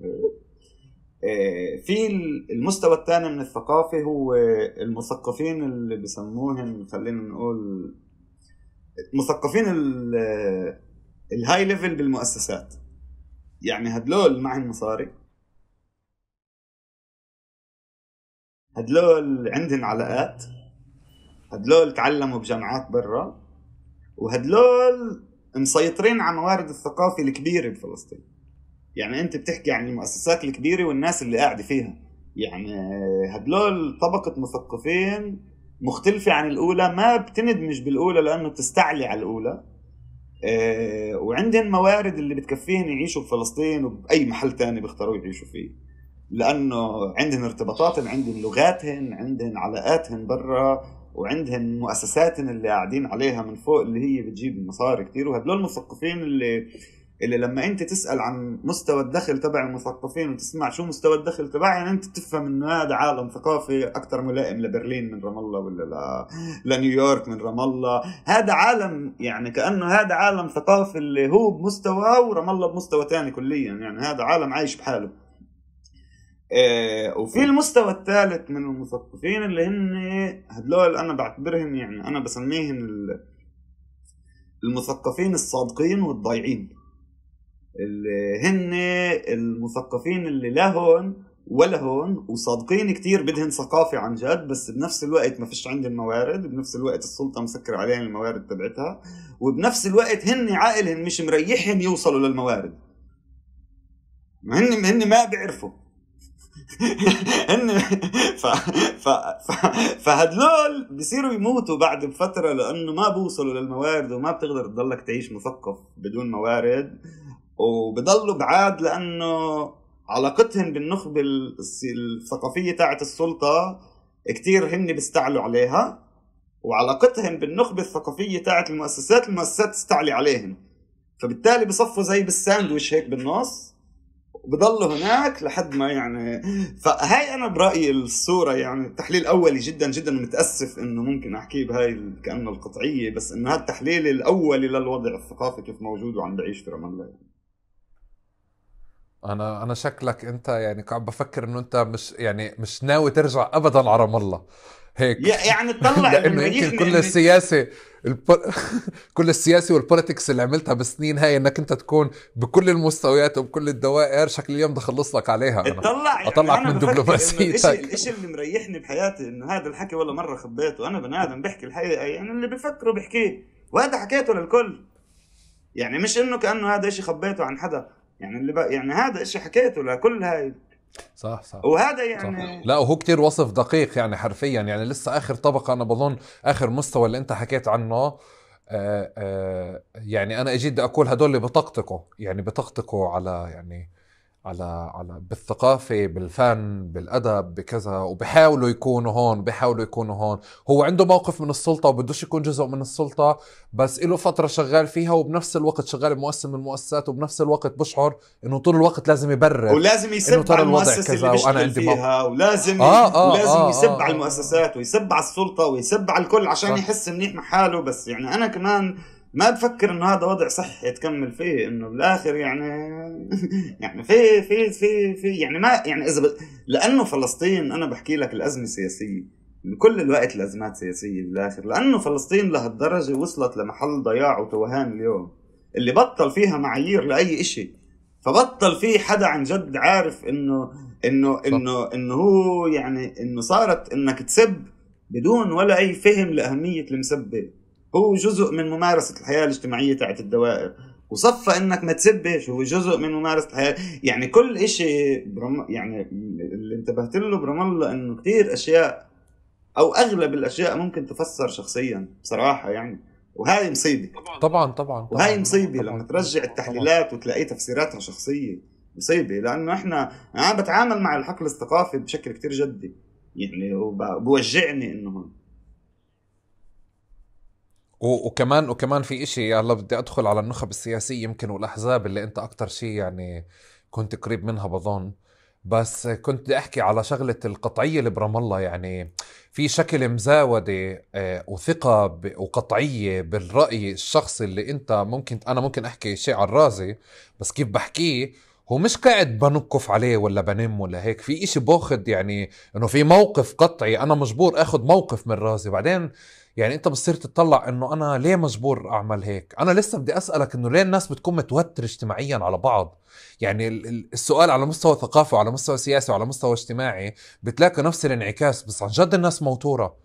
في المستوى الثاني من الثقافة هو المثقفين اللي بسموهم، خلينا نقول مثقفين الهاي ليفل بالمؤسسات. يعني هدلول معهم مصاري، هدلول عندهم علاقات، هدلول تعلموا بجامعات برا، وهدلول مسيطرين على موارد الثقافة الكبيرة بفلسطين. يعني انت بتحكي عن المؤسسات الكبيرة والناس اللي قاعدة فيها، يعني هدلول طبقة مثقفين مختلفة عن الأولى، ما بتندمج بالأولى لأنه بتستعلي على الأولى. وعندهم موارد اللي بتكفيهم يعيشوا بفلسطين وبأي محل تاني بيختاروا يعيشوا فيه، لأنه عندهم ارتباطاتهم، عندهم لغاتهم، عندهم علاقاتهم برا، وعندهم مؤسساتهم اللي قاعدين عليها من فوق اللي هي بتجيب مصاري كتير. وهدول المثقفين اللي لما انت تسأل عن مستوى الدخل تبع المثقفين وتسمع شو مستوى الدخل تبعهم، يعني انت تفهم انه هذا عالم ثقافي اكثر ملائم لبرلين من رام الله، ولا لنيويورك من رام الله. هذا عالم يعني كأنه هذا عالم ثقافي اللي هو بمستوى ورام الله بمستوى تاني كليا، يعني هذا عالم عايش بحاله. وفي المستوى الثالث من المثقفين اللي هن هدول انا بعتبرهم، يعني انا بسميهم المثقفين الصادقين والضايعين، اللي هن المثقفين اللي لا هون ولا هون وصادقين كتير، بدهن ثقافة عن جد، بس بنفس الوقت ما فيش عندهم موارد، بنفس الوقت السلطة مسكر عليهم الموارد تبعتها، وبنفس الوقت هن عائلهم مش مريحهم يوصلوا للموارد، هن ما بيعرفوا هن فهدلول بيصيروا يموتوا بعد بفترة لأنه ما بوصلوا للموارد، وما بتقدر تضلك تعيش مثقف بدون موارد، وبضلوا بعاد لأنه علاقتهم بالنخبة الثقافية تاعت السلطة كتير هن بيستعلوا عليها، وعلاقتهم بالنخبة الثقافية تاعت المؤسسات تستعلي عليهم، فبالتالي بصفوا زي بالساندويش هيك بالنص وبضلوا هناك لحد ما يعني. فهاي أنا برأيي الصورة، يعني تحليل أولي جدا جدا، متأسف إنه ممكن أحكيه بهاي كأنه القطعية، بس إنه هذا التحليل الأولي للوضع الثقافي كيف موجود وعم بعيش في رام الله. يعني انا شكلك انت يعني قاعد بفكر انه انت مش ناوي ترجع ابدا على رام الله هيك يعني تطلع لانه يمكن كل السياسه كل السياسه والبوليتكس اللي عملتها بالسنين هاي انك انت تكون بكل المستويات وبكل الدوائر، شكل اليوم بدي اخلص لك عليها. انا اطلعك من دبلوماسيتك. الشيء اللي مريحني بحياتي انه هذا الحكي ولا مره خبيته، انا بني ادم بحكي الحقيقه، يعني اللي بفكره بحكيه، وهذا حكيته للكل، يعني مش انه كانه هذا شيء خبيته عن حدا، يعني يعني هذا الشيء حكيته لكل هاي. صح وهذا يعني صح. لا وهو كتير وصف دقيق يعني حرفيا، يعني لسه آخر طبقة أنا بظن آخر مستوى اللي أنت حكيت عنه. يعني أنا أجيد أقول هدول اللي بتقطقوا على يعني على بالثقافة بالفن بالأدب بكذا، وبيحاولوا يكونوا هون. هو عنده موقف من السلطة وبدوش يكون جزء من السلطة، بس إله فترة شغال فيها، وبنفس الوقت شغال بمؤسسة من المؤسسات، وبنفس الوقت بشعر إنه طول الوقت لازم يبرر ولازم يسب على المؤسسة اللي بيشتغل فيها، ولازم يسب على المؤسسات ويسب على السلطة ويسب على الكل عشان يحس منيح مع حاله. بس يعني أنا كمان ما بفكر انه هذا وضع صحي تكمل فيه، انه بالاخر يعني يعني في يعني ما يعني لانه فلسطين، انا بحكي لك الازمه سياسيه من كل الوقت، الازمات سياسيه بالاخر، لانه فلسطين لهالدرجه وصلت لمحل ضياع وتوهان اليوم، اللي بطل فيها معايير لاي شيء، فبطل فيه حدا عن جد عارف انه هو يعني انه صارت انك تسب بدون ولا اي فهم لاهميه المسبه، هو جزء من ممارسة الحياة الاجتماعية تاعت الدوائر، وصفى انك ما تسبش هو جزء من ممارسة الحياة. يعني كل اشي يعني اللي انتبهت له برام الله انه كتير اشياء او اغلب الاشياء ممكن تفسر شخصيا بصراحة يعني، وهاي مصيبة طبعا وهاي مصيبة لما ترجع التحليلات وتلاقي تفسيراتها شخصية، مصيبة. لانه انا بتعامل مع الحقل الثقافي بشكل كتير جدي، يعني وبوجعني انه هون. وكمان في اشي، هلا بدي ادخل على النخب السياسية يمكن والاحزاب اللي انت اكتر شيء يعني كنت قريب منها بظن. بس كنت بدي احكي على شغلة القطعية اللي برام الله. يعني في شكل مزاودة وثقة وقطعية بالرأي الشخصي اللي انت انا ممكن احكي شيء على الرازي، بس كيف بحكيه هو مش قاعد بنقف عليه ولا بنم ولا هيك. في اشي باخد يعني انه في موقف قطعي، انا مجبور اخد موقف من رازي. بعدين يعني انت بتصير تطلع انه انا ليه مجبور اعمل هيك. انا لسه بدي اسألك انه ليه الناس بتكون متوتر اجتماعيا على بعض. يعني السؤال على مستوى ثقافي وعلى مستوى سياسي وعلى مستوى اجتماعي بتلاقي نفس الانعكاس، بس عن جد الناس موتورة.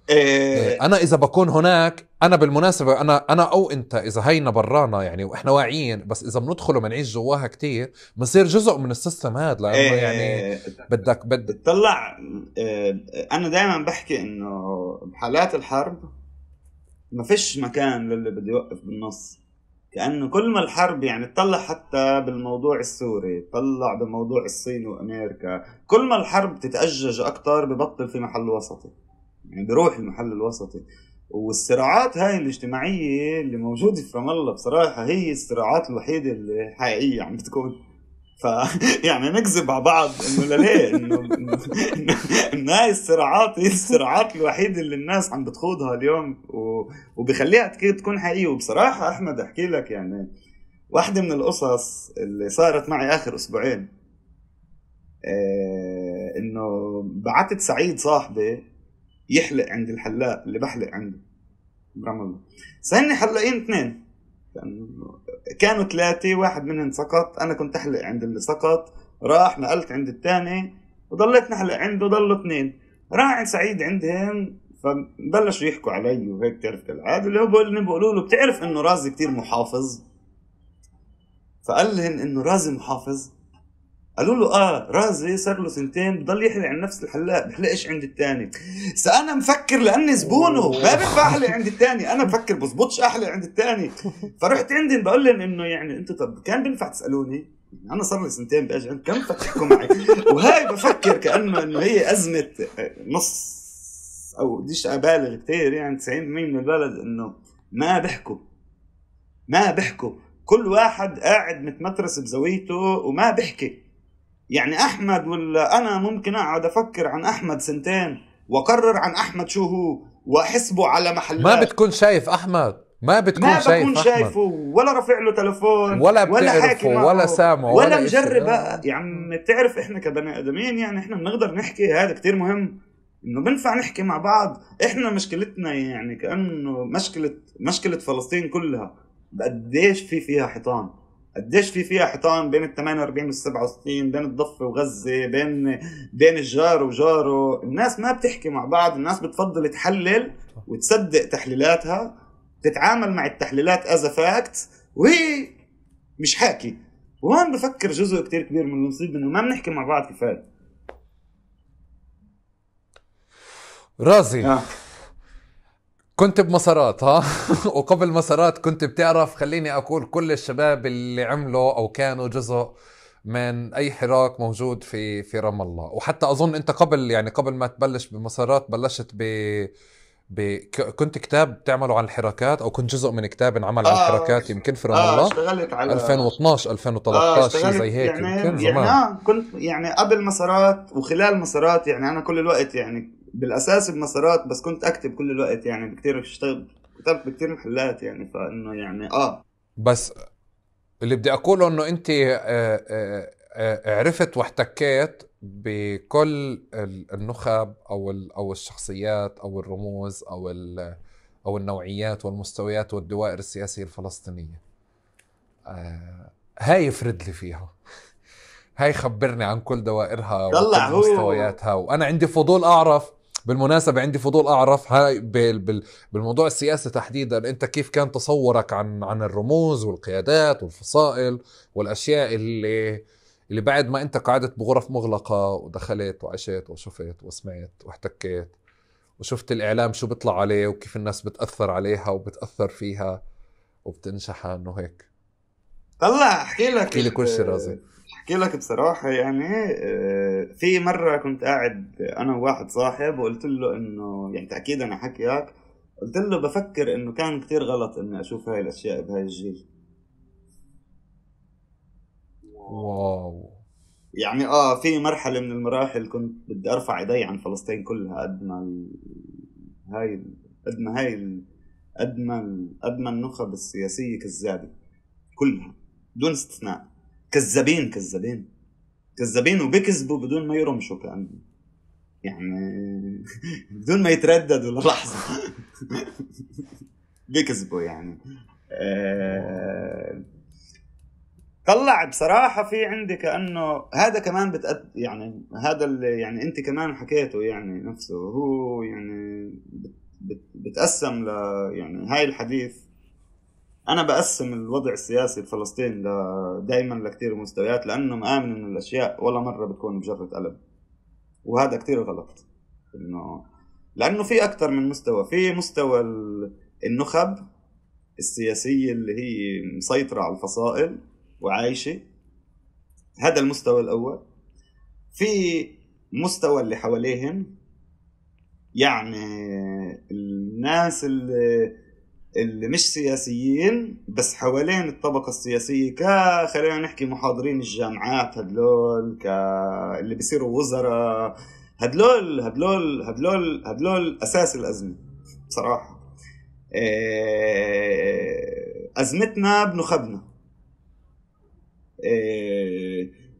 انا اذا بكون هناك، انا بالمناسبة انا او انت اذا هينا برانا يعني واحنا واعيين، بس اذا بندخل ومنعيش جواها كتير بنصير جزء من السيستم هذا. لانه يعني بدك بتطلع. انا دائما بحكي انه بحالات الحرب ما فيش مكان للي بده يوقف بالنص. كأنه كل ما الحرب يعني تطلع حتى بالموضوع السوري، تطلع بموضوع الصين وأمريكا، كل ما الحرب تتأجج أكتر ببطل في محل وسطي، يعني بروح المحل الوسطي. والصراعات هاي الاجتماعية اللي موجودة في رام الله بصراحة هي الصراعات الوحيدة اللي حقيقية عم بتكون. ف يعني نكذب على بعض انه ليه انه هاي الصراعات هي الصراعات الوحيده اللي الناس عم بتخوضها اليوم وبخليها تكون حقيقيه. وبصراحه احمد احكي لك يعني واحده من القصص اللي صارت معي اخر اسبوعين، انه بعتت سعيد صاحبي يحلق عند الحلاق اللي بحلق عنده برام الله. سألني حلاقين 2، كانوا 3، واحد منهم سقط، انا كنت احلق عند اللي سقط، راح نقلت عند الثاني وضليت نحلق عنده، ضلوا 2. راح عند سعيد عندهم فبلشوا يحكوا علي وهيك تعرف كالعاده، اللي هو بقولوا له بتعرف انه رازي كتير محافظ؟ فقال لهم انه رازي محافظ؟ قالوا له رازي صار له 2 بضل يحلق عند نفس الحلاق، بحلقش عند الثاني. انا مفكر لاني زبونه ما بنفع احلق عند الثاني، انا مفكر بزبطش احلق عند الثاني. فرحت عندهم بقول لهم انه يعني انتوا طب كان بينفع تسالوني، انا صار لي 2 باجي عند كم فتحكوا معي. وهاي بفكر كانه انه هي ازمه نص او بديش ابالغ كتير، يعني 90% من البلد انه ما بحكوا، كل واحد قاعد متمترس بزاويته وما بحكي. يعني أحمد ولا أنا ممكن أقعد أفكر عن أحمد 2 وأقرر عن أحمد شو هو وأحسبه على محلات. ما بتكون شايف أحمد، ما بكون شايفه ولا رافع له تلفون ولا حاكي معه ولا سامعه ولا مجرب. يعني بتعرف إحنا كبني آدمين يعني إحنا بنقدر نحكي، هذا كتير مهم إنه بنفع نحكي مع بعض. إحنا مشكلتنا يعني كأنه مشكلة فلسطين كلها قديش فيها حيطان، قديش فيها حيطان بين ال 48 وال 67، بين الضفة وغزة، بين الجار وجاره. الناس ما بتحكي مع بعض، الناس بتفضل تحلل وتصدق تحليلاتها، تتعامل مع التحليلات as a fact وهي مش حاكي. وهون بفكر جزء كتير كبير من المصيبة انه ما بنحكي مع بعض كفاية. رازي كنت بمسارات وقبل مسارات كنت بتعرف، خليني أقول كل الشباب اللي عملوا أو كانوا جزء من أي حراك موجود في رام الله. وحتى أظن أنت قبل ما تبلش بمسارات بلشت كنت كتاب بتعملوا عن الحراكات، أو كنت جزء من كتاب انعمل عن الحراكات يمكن في رام الله. اشتغلت على 2012 2013 شيء زي هيك يمكن زمان. كنت يعني قبل مسارات وخلال مسارات، يعني أنا كل الوقت يعني بالأساس بمسارات، بس كنت أكتب كل الوقت يعني كتير كتبت بكتير محلات يعني. فإنه يعني بس اللي بدي أقوله إنه أنت عرفت واحتكيت بكل النخب أو الشخصيات أو الرموز أو النوعيات والمستويات والدوائر السياسية الفلسطينية. هاي يفرد لي فيها، هاي خبرني عن كل دوائرها وكل مستوياتها. وأنا عندي فضول أعرف، بالمناسبة عندي فضول أعرف هاي بالموضوع السياسي تحديدا، أنت كيف كان تصورك عن الرموز والقيادات والفصائل والأشياء اللي بعد ما أنت قعدت بغرف مغلقة ودخلت وعشت وشفت وسمعت واحتكيت وشفت الإعلام شو بيطلع عليه وكيف الناس بتأثر عليها وبتأثر فيها وبتنشحن وهيك. طلع احكي لك كل شيء رازي. احكي لك بصراحة يعني في مرة كنت قاعد انا وواحد صاحب وقلت له انه يعني تأكيدا على حكيك، قلت له بفكر انه كان كتير غلط اني اشوف هاي الاشياء بهاي الجيل. واو. يعني في مرحلة من المراحل كنت بدي ارفع ايدي عن فلسطين كلها قد ما هاي قد ما هاي قد ما النخب السياسية كذابة كلها بدون استثناء. كذابين كذابين كذابين وبيكذبوا بدون ما يرمشوا كأنه يعني بدون ما يترددوا للحظة بيكذبوا يعني. طلع بصراحة في عندي كأنه هذا كمان يعني هذا اللي يعني انت كمان حكيته يعني نفسه هو يعني بتقسم يعني هاي الحديث انا بقسم الوضع السياسي الفلسطيني دائما لكتير مستويات، لانه مآمن انه الاشياء ولا مرة بتكون بجرة قلم، وهذا كتير غلط. انه لانه في اكتر من مستوى، في مستوى النخب السياسية اللي هي مسيطرة على الفصائل وعايشة، هذا المستوى الاول. في مستوى اللي حواليهم، يعني الناس اللي مش سياسيين بس حوالين الطبقة السياسية، خلينا نحكي محاضرين الجامعات هدلول، اللي بيصيروا وزراء، هدلول أساس الأزمة بصراحة. أزمتنا بنخبنا.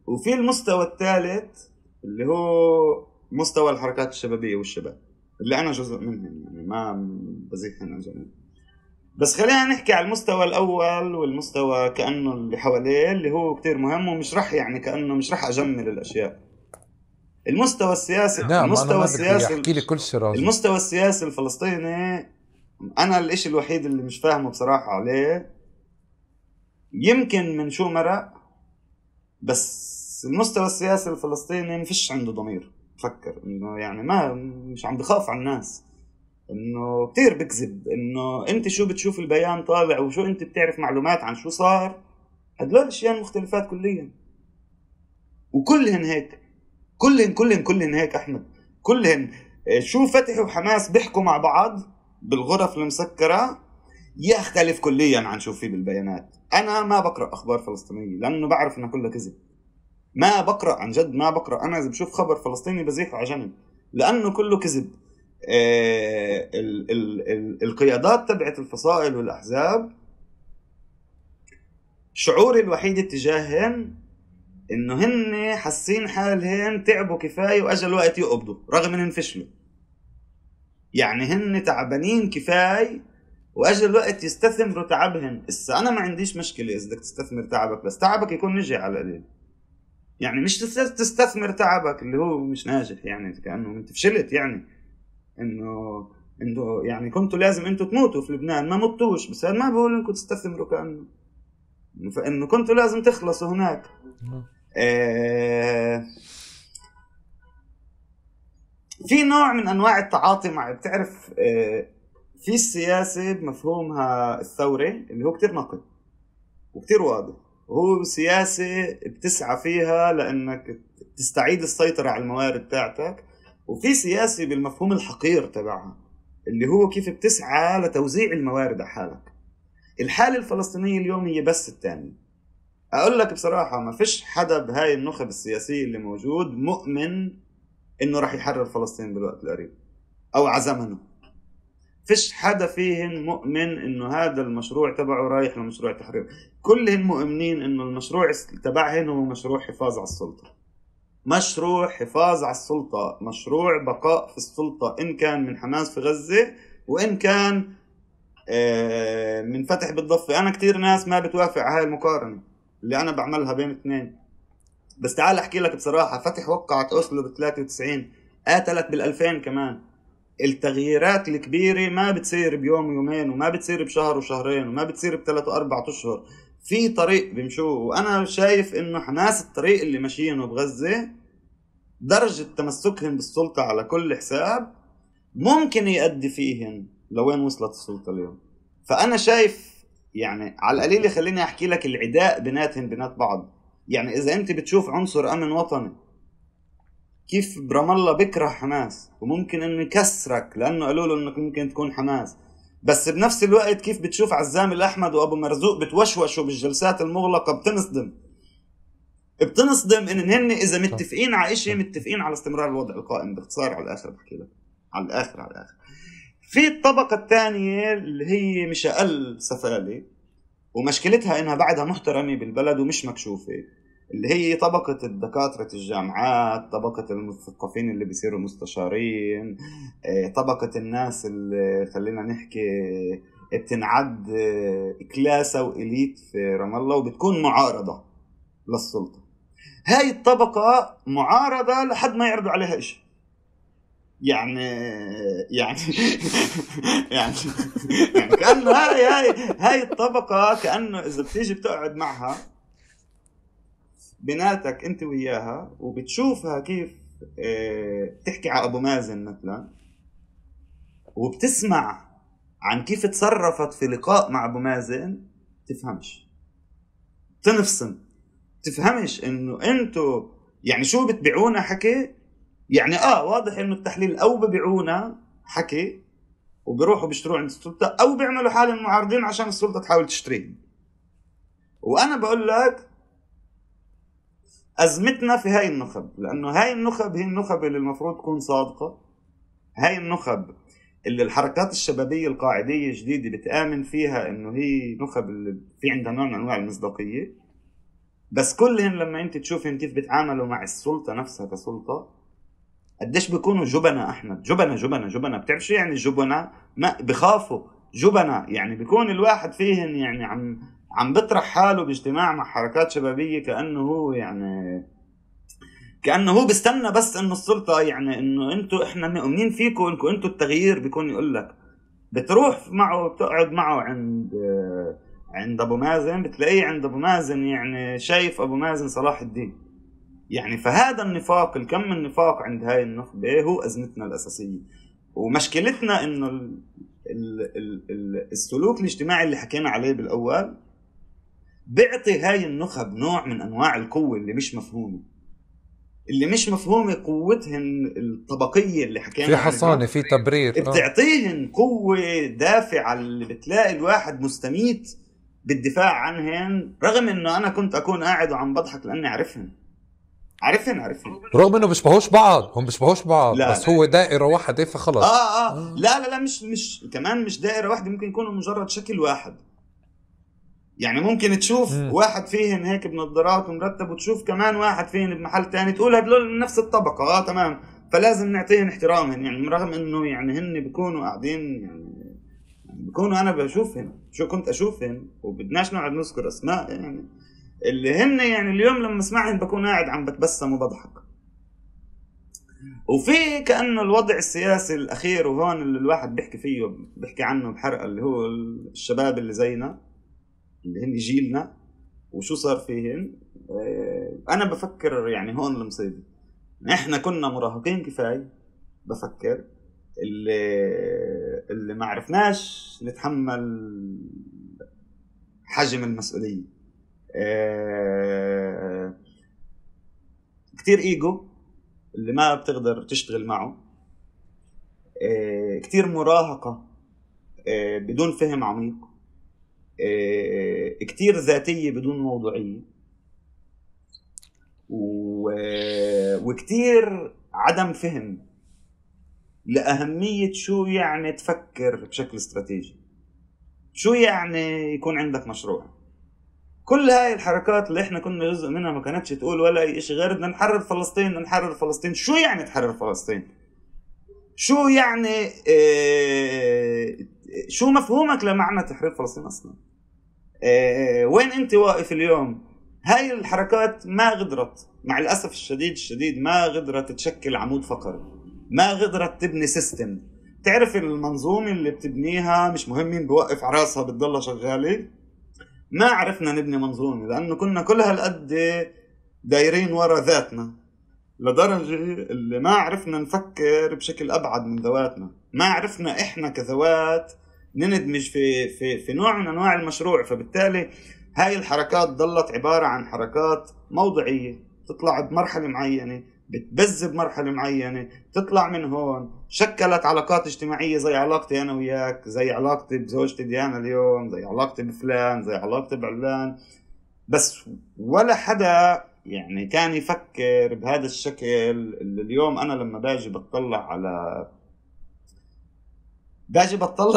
وفي المستوى الثالث اللي هو مستوى الحركات الشبابية والشباب اللي أنا جزء منهم، يعني ما بزيحهم أجمع. بس خلينا نحكي على المستوى الأول والمستوى كأنه اللي حواليه اللي هو كتير مهم، ومش رح يعني كأنه مش رح أجمل الأشياء. المستوى السياسي، نعم أنا ما بدي أحكي لي كل شيء راجل. المستوى السياسي الفلسطيني أنا الإشي الوحيد اللي مش فاهمه بصراحة عليه، يمكن من شو مرق، بس المستوى السياسي الفلسطيني مفيش عنده ضمير. فكر إنه يعني مش عم بخاف على الناس، انه كتير بكذب، انه انت شو بتشوف البيان طالع وشو انت بتعرف معلومات عن شو صار، هدول الاشياء مختلفات كليا. وكلهن هيك، كلهن هيك احمد، كلهن شو فتح وحماس بيحكوا مع بعض بالغرف المسكرة يختلف كليا عن شو في بالبيانات. انا ما بقرأ اخبار فلسطينية لانه بعرف انها كلها كذب، ما بقرأ عن جد، ما بقرأ. انا اذا بشوف خبر فلسطيني بزيحه على جنب لانه كله كذب. القيادات تبعت الفصائل والأحزاب شعوري الوحيد اتجاههن انه هن حاسين حالهن تعبوا كفاية واجا الوقت يقبضوا رغم انهم فشلوا. يعني هن تعبانين كفاية واجا الوقت يستثمروا تعبهن. انا ما عنديش مشكلة اذا بدك تستثمر تعبك، بس تعبك يكون نجح على القليل. يعني مش تستثمر تعبك اللي هو مش ناجح، يعني كأنه انت فشلت، يعني انه يعني كنتوا لازم انتوا تموتوا في لبنان، ما متوش، بس هذا ما بقول انكم تستثمروا، كأنه فانه كنتوا لازم تخلصوا هناك. في نوع من انواع التعاطي مع، بتعرف في السياسة بمفهومها الثوري اللي هو كتير نقي وكتير واضح، وهو سياسة بتسعى فيها لانك تستعيد السيطرة على الموارد تاعتك، وفي سياسي بالمفهوم الحقير تبعها اللي هو كيف بتسعى لتوزيع الموارد على حالك. الحالة الفلسطينية اليوم هي بس الثاني. أقول لك بصراحة ما فيش حدا بهاي النخب السياسية اللي موجود مؤمن إنه رح يحرر فلسطين بالوقت القريب أو عزمنه. فيش حدا فيهن مؤمن إنه هذا المشروع تبعه رايح لمشروع تحرير. كلهن مؤمنين إنه المشروع تبعهن هو مشروع حفاظ على السلطة، مشروع حفاظ على السلطة، مشروع بقاء في السلطة، إن كان من حماس في غزة وإن كان من فتح بالضفة. أنا كتير ناس ما بتوافق على هاي المقارنة اللي أنا بعملها بين الاثنين، بس تعال أحكي لك بصراحة. فتح وقعت أوسلو ب93، قاتلت بال2000 كمان. التغييرات الكبيرة ما بتصير بيوم ويومين، وما بتصير بشهر وشهرين، وما بتصير ب3 و4 أشهر. في طريق بيمشوه، وأنا شايف إنه حماس الطريق اللي ماشيينه بغزة درجة تمسكهم بالسلطة على كل حساب ممكن يؤدي فيهن لوين وصلت السلطة اليوم. فأنا شايف يعني على القليل خليني أحكي لك العداء بيناتهم بينات بعض يعني إذا أنت بتشوف عنصر أمن وطني كيف برام الله بكره حماس وممكن إنه يكسرك لأنه قالوا له إنك ممكن تكون حماس، بس بنفس الوقت كيف بتشوف عزام الأحمد وأبو مرزوق بتوشوشوا بالجلسات المغلقة، بتنصدم إن هن إذا متفقين على إشي متفقين على استمرار الوضع القائم. باختصار على الآخر بحكي لك على الآخر في الطبقة الثانية اللي هي مش أقل سفالة ومشكلتها إنها بعدها محترمة بالبلد ومش مكشوفة، اللي هي طبقة الدكاترة الجامعات، طبقة المثقفين اللي بيصيروا مستشارين، طبقة الناس اللي خلينا نحكي بتنعد كلاسة وإليت في رام الله وبتكون معارضة للسلطة. هاي الطبقة معارضة لحد ما يعرضوا عليها إشي. يعني يعني كأنه هاي الطبقة كأنه إذا بتيجي بتقعد معها بناتك أنت وياها وبتشوفها كيف تحكي على أبو مازن مثلا وبتسمع عن كيف تصرفت في لقاء مع أبو مازن، تفهمش، تنفسن، تفهمش إنه أنتوا يعني شو بتبيعونا حكي. يعني واضح إنه التحليل أو ببيعونا حكي وبيروحوا بيشتروه عند السلطة أو بيعملوا حالهم معارضين عشان السلطة تحاول تشتريهم. وأنا بقول لك أزمتنا في هاي النخب، لأنه هاي النخب هي النخب اللي المفروض تكون صادقة، هاي النخب اللي الحركات الشبابية القاعدية الجديدة بتآمن فيها إنه هي نخب اللي في عندها نوع من أنواع المصداقية، بس كلهم لما أنت تشوفهم كيف بيتعاملوا مع السلطة نفسها كسلطة قديش بيكونوا جبنة. أحمد جبنة بتعرف شو يعني جبنة؟ ما بخافوا جبنة، يعني بيكون الواحد فيهن يعني عم بطرح حاله باجتماع مع حركات شبابية كأنه هو يعني كأنه هو بيستنى بس إنه السلطة يعني إنه أنتوا إحنا مؤمنين فيكم إنكم أنتوا التغيير. بيكون يقول لك بتروح معه بتقعد معه عند أبو مازن بتلاقيه عند أبو مازن يعني شايف أبو مازن صلاح الدين يعني. فهذا النفاق، الكم من النفاق عند هاي النخبة هو أزمتنا الأساسية ومشكلتنا إنه السلوك الاجتماعي اللي حكينا عليه بالأول بيعطي هاي النخب نوع من أنواع القوة اللي مش مفهومة قوتهن الطبقية اللي حكينا في حصانة في تبرير بتعطيهن قوة دافعة اللي بتلاقي الواحد مستميت بالدفاع عنهن، رغم إنه أنا كنت أكون قاعد وعم بضحك لأني عارفهن رغم انه بيشبهوش بعض، هم بيشبهوش بعض لا بس لا. هو دائرة واحدة فخلص. لا مش كمان مش دائرة واحدة، ممكن يكونوا مجرد شكل واحد. يعني ممكن تشوف واحد فيهن هيك بنظارات ومرتب وتشوف كمان واحد فيهن بمحل تاني تقول هدول نفس الطبقة تمام، فلازم نعطيهن احترامهن يعني رغم انه يعني هن بيكونوا قاعدين يعني بيكونوا انا بشوفهن شو كنت اشوفهن وبدناش نقعد نذكر اسماء يعني اللي هن يعني اليوم لما اسمعهم بكون قاعد عم بتبسم وبضحك. وفي كأنه الوضع السياسي الأخير وهون اللي الواحد بيحكي عنه بحرقة اللي هو الشباب اللي زينا اللي هن جيلنا وشو صار فيهن. أنا بفكر يعني هون المصيبة إحنا كنا مراهقين كفاية، بفكر اللي ما عرفناش نتحمل حجم المسؤولية. كتير إيجو اللي ما بتقدر تشتغل معه، كتير مراهقة بدون فهم عميق، كتير ذاتية بدون موضوعية، وكتير عدم فهم لأهمية شو يعني تفكر بشكل استراتيجي، شو يعني يكون عندك مشروع. كل هاي الحركات اللي احنا كنا جزء منها ما كانتش تقول ولا اي شيء غير بدنا نحرر فلسطين. شو يعني تحرر فلسطين؟ شو يعني شو مفهومك لمعنى تحرير فلسطين اصلا؟ وين انت واقف اليوم؟ هاي الحركات ما قدرت مع الاسف الشديد ما قدرت تشكل عمود فقري، ما قدرت تبني سيستم. تعرف المنظومة اللي بتبنيها مش مهم مين بوقف عراسها بتضلها شغالة. ما عرفنا نبني منظومة لأنه كنا كل هالقد دايرين ورا ذاتنا لدرجة اللي ما عرفنا نفكر بشكل أبعد من ذواتنا، ما عرفنا إحنا كذوات نندمج في نوع من أنواع المشروع. فبالتالي هاي الحركات ضلت عبارة عن حركات موضعية، تطلع بمرحلة معينة، بتبز بمرحلة معينة، تطلع من هون، شكلت علاقات اجتماعية زي علاقتي أنا وياك، زي علاقتي بزوجتي ديانا اليوم، زي علاقتي بفلان، زي علاقتي بعلان. بس ولا حدا يعني كان يفكر بهذا الشكل اللي اليوم أنا لما باجي بطلع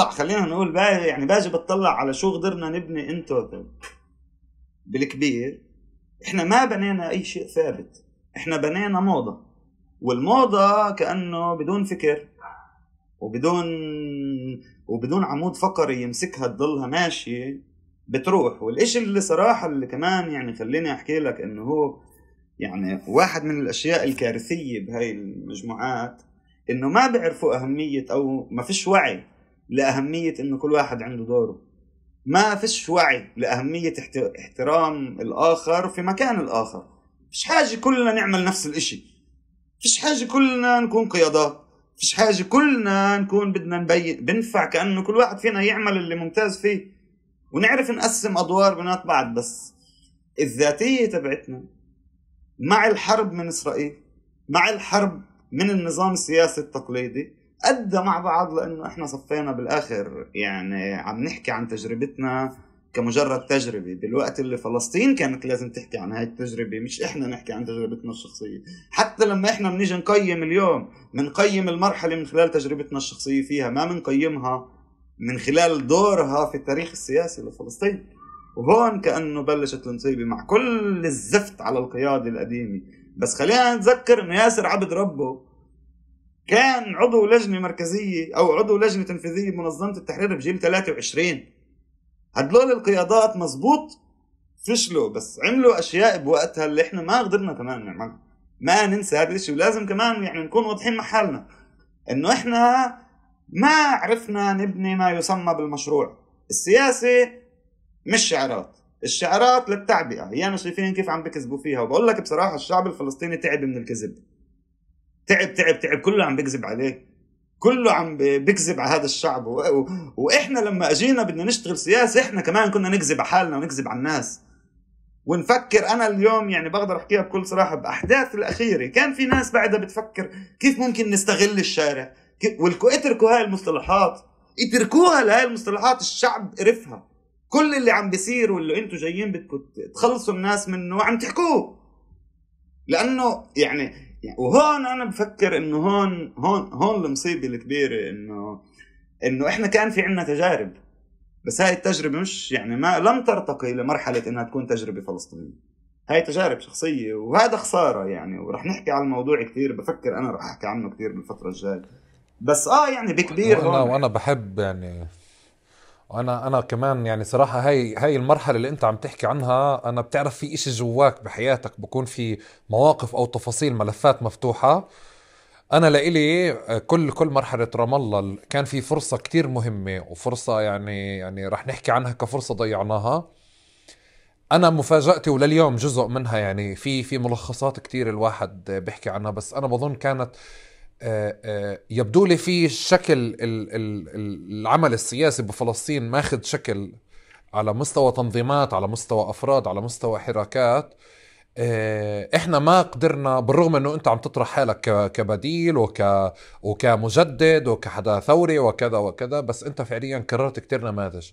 خلينا نقول باجي بطلع على شو قدرنا نبني ان توتال بالكبير. احنا ما بنينا اي شيء ثابت، احنا بنينا موضة، والموضة كأنه بدون فكر وبدون عمود فقري يمسكها تضلها ماشي بتروح. والاشي اللي صراحة اللي كمان يعني خليني احكي لك انه هو يعني واحد من الاشياء الكارثية بهاي المجموعات، انه ما بيعرفوا اهمية او ما فيش وعي لأهمية انه كل واحد عنده دوره، ما فيش وعي لأهمية احترام الآخر في مكان الآخر. فيش حاجة كلنا نعمل نفس الاشي، فيش حاجة كلنا نكون قيادات، فيش حاجة كلنا نكون بدنا نبين بنفع، كأنه كل واحد فينا يعمل اللي ممتاز فيه ونعرف نقسم أدوار بينات بعض. بس الذاتية تبعتنا مع الحرب من إسرائيل، مع الحرب من النظام السياسي التقليدي، أدى مع بعض لأنه إحنا صفينا بالآخر يعني عم نحكي عن تجربتنا كمجرد تجربة، بالوقت اللي فلسطين كانت لازم تحكي عن هاي التجربة، مش إحنا نحكي عن تجربتنا الشخصية. حتى لما إحنا بنيجي نقيم اليوم منقيم المرحلة من خلال تجربتنا الشخصية فيها، ما منقيمها من خلال دورها في التاريخ السياسي لفلسطين. وهون كأنه بلشت المصيبة مع كل الزفت على القيادة القديمة. بس خلينا نتذكر إنه ياسر عبد ربه كان عضو لجنة مركزية أو عضو لجنة تنفيذية بمنظمة التحرير بجيل 23. هدول القيادات مزبوط فشلوا، بس عملوا أشياء بوقتها اللي إحنا ما قدرنا كمان نعملها. ما ننسى هذا الشيء، ولازم كمان يعني نكون واضحين مع حالنا إنه إحنا ما عرفنا نبني ما يسمى بالمشروع السياسي. مش شعارات، الشعارات للتعبئة، هي أنا شايفين كيف عم بكذبوا فيها. وبقول لك بصراحة الشعب الفلسطيني تعب من الكذب، تعب، كله عم بيكذب عليه، كله عم بيكذب على هذا الشعب. واحنا لما اجينا بدنا نشتغل سياسة احنا كمان كنا نكذب على حالنا ونكذب على الناس ونفكر. انا اليوم يعني بقدر احكيها بكل صراحة، باحداث الاخيرة كان في ناس بعدها بتفكر كيف ممكن نستغل الشارع، اتركوا هاي المصطلحات، اتركوها لهاي المصطلحات، الشعب قرفها. كل اللي عم بيصير واللي انتوا جايين بدكم تخلصوا الناس منه عم تحكوه، لانه يعني وهون انا بفكر انه هون المصيبه الكبيره، انه احنا كان في عنا تجارب، بس هاي التجربه مش يعني ما لم ترتقي لمرحله انها تكون تجربه فلسطينيه. هاي تجارب شخصيه وهذا خساره يعني، ورح نحكي عن الموضوع كتير، بفكر انا رح احكي عنه كتير بالفتره الجايه. بس يعني بكبير وانا بحب يعني انا كمان يعني صراحة هاي المرحلة اللي انت عم تحكي عنها، انا بتعرف في اشي جواك بحياتك بكون في مواقف او تفاصيل ملفات مفتوحة. انا لإلي كل مرحلة رام الله كان في فرصة كتير مهمة، وفرصة يعني رح نحكي عنها كفرصة ضيعناها. انا مفاجأتي ولليوم جزء منها يعني في ملخصات كتير الواحد بيحكي عنها، بس انا بظن كانت يبدو لي في شكل العمل السياسي بفلسطين ماخذ شكل على مستوى تنظيمات، على مستوى أفراد، على مستوى حركات. احنا ما قدرنا، بالرغم انه انت عم تطرح حالك كبديل وكمجدد وكحدا ثوري وكذا وكذا، بس انت فعليا كررت كتير نماذج.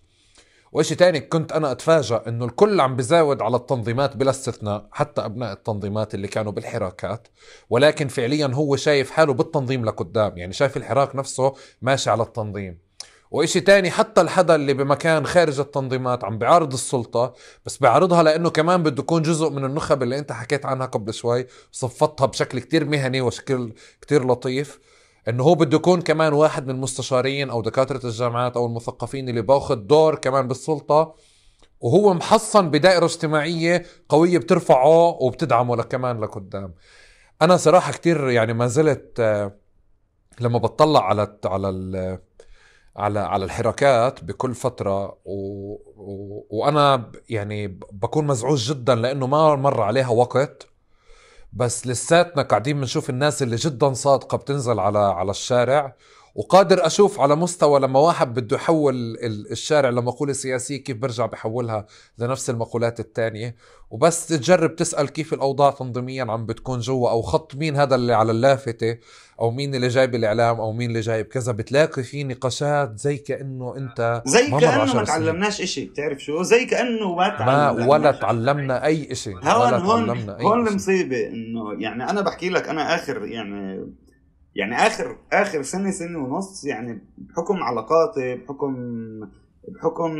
وإشي تاني كنت أنا أتفاجأ إنه الكل عم بزاود على التنظيمات بلا استثناء، حتى أبناء التنظيمات اللي كانوا بالحراكات، ولكن فعليا هو شايف حاله بالتنظيم لقدام، يعني شايف الحراك نفسه ماشي على التنظيم. وإشي تاني حتى الحدا اللي بمكان خارج التنظيمات عم بيعارض السلطة، بس بيعارضها لأنه كمان بده يكون جزء من النخب اللي أنت حكيت عنها قبل شوي، صفتها بشكل كتير مهني وشكل كتير لطيف، انه هو بده يكون كمان واحد من المستشارين او دكاترة الجامعات او المثقفين اللي باخد دور كمان بالسلطة، وهو محصن بدائرة اجتماعية قوية بترفعه وبتدعمه كمان لقدام. انا صراحة كتير يعني ما زلت لما بتطلع على الحركات بكل فترة وانا يعني بكون مزعوج جدا لانه ما مر عليها وقت، بس لساتنا قاعدين بنشوف الناس اللي جدا صادقة بتنزل على الشارع وقادر أشوف على مستوى لما واحد بده يحول الشارع لمقولة سياسية كيف برجع بحولها لنفس المقولات التانية. وبس تجرب تسأل كيف الأوضاع تنظيميا عم بتكون جوا، أو خط مين هذا اللي على اللافتة، أو مين اللي جايب الإعلام، أو مين اللي جايب كذا، بتلاقي في نقاشات زي كأنه أنت زي ما مر كأنه 10 ما سنين. تعلمناش إشي. بتعرف شو؟ زي كأنه ما ولا تعلمنا أي إشي، ولا تعلمنا أي هون إشي. المصيبة إنه يعني أنا بحكي لك أنا آخر يعني آخر سنة ونص، يعني بحكم علاقاتي، بحكم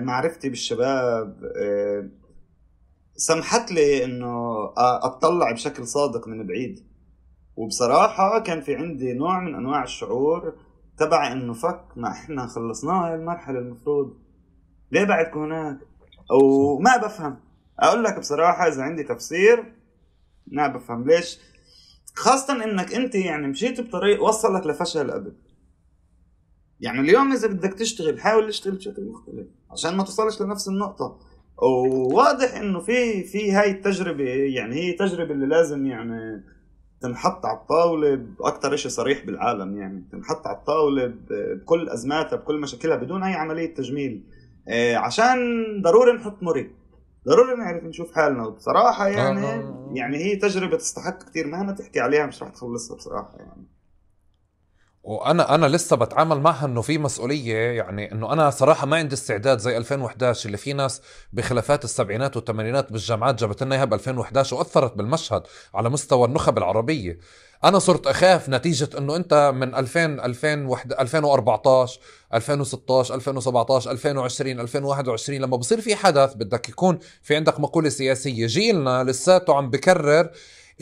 معرفتي بالشباب، سمحت لي إنه أطلع بشكل صادق من بعيد. وبصراحة كان في عندي نوع من أنواع الشعور تبع إنه فك ما إحنا خلصناها هاي المرحلة، المفروض ليه بعدكم هناك؟ أو ما بفهم. أقول لك بصراحة إذا عندي تفسير ما بفهم ليش، خاصة إنك أنت يعني مشيت بطريق وصلك لفشل قبل. يعني اليوم إذا بدك تشتغل حاول تشتغل بشكل مختلف عشان ما توصلش لنفس النقطة. وواضح إنه في هاي التجربة، يعني هي تجربة اللي لازم يعني تنحط على الطاولة بأكتر إشي صريح بالعالم، يعني تنحط على الطاولة بكل أزماتها بكل مشاكلها بدون أي عملية تجميل، عشان ضروري نحط مري، ضروري نعرف نشوف حالنا. وبصراحة يعني هي تجربة تستحق كتير، مهما تحكي عليها مش رح تخلصها بصراحة يعني. وانا لسه بتعامل معها انه في مسؤوليه، يعني انه انا صراحه ما عندي استعداد زي 2011 اللي في ناس بخلافات السبعينات والثمانينات بالجامعات جابت لنا اياها ب 2011 واثرت بالمشهد على مستوى النخب العربيه. انا صرت اخاف نتيجه انه انت من 2014 2016 2017 2020 2021 لما بصير في حدث بدك يكون في عندك مقوله سياسيه، جيلنا لساته عم بكرر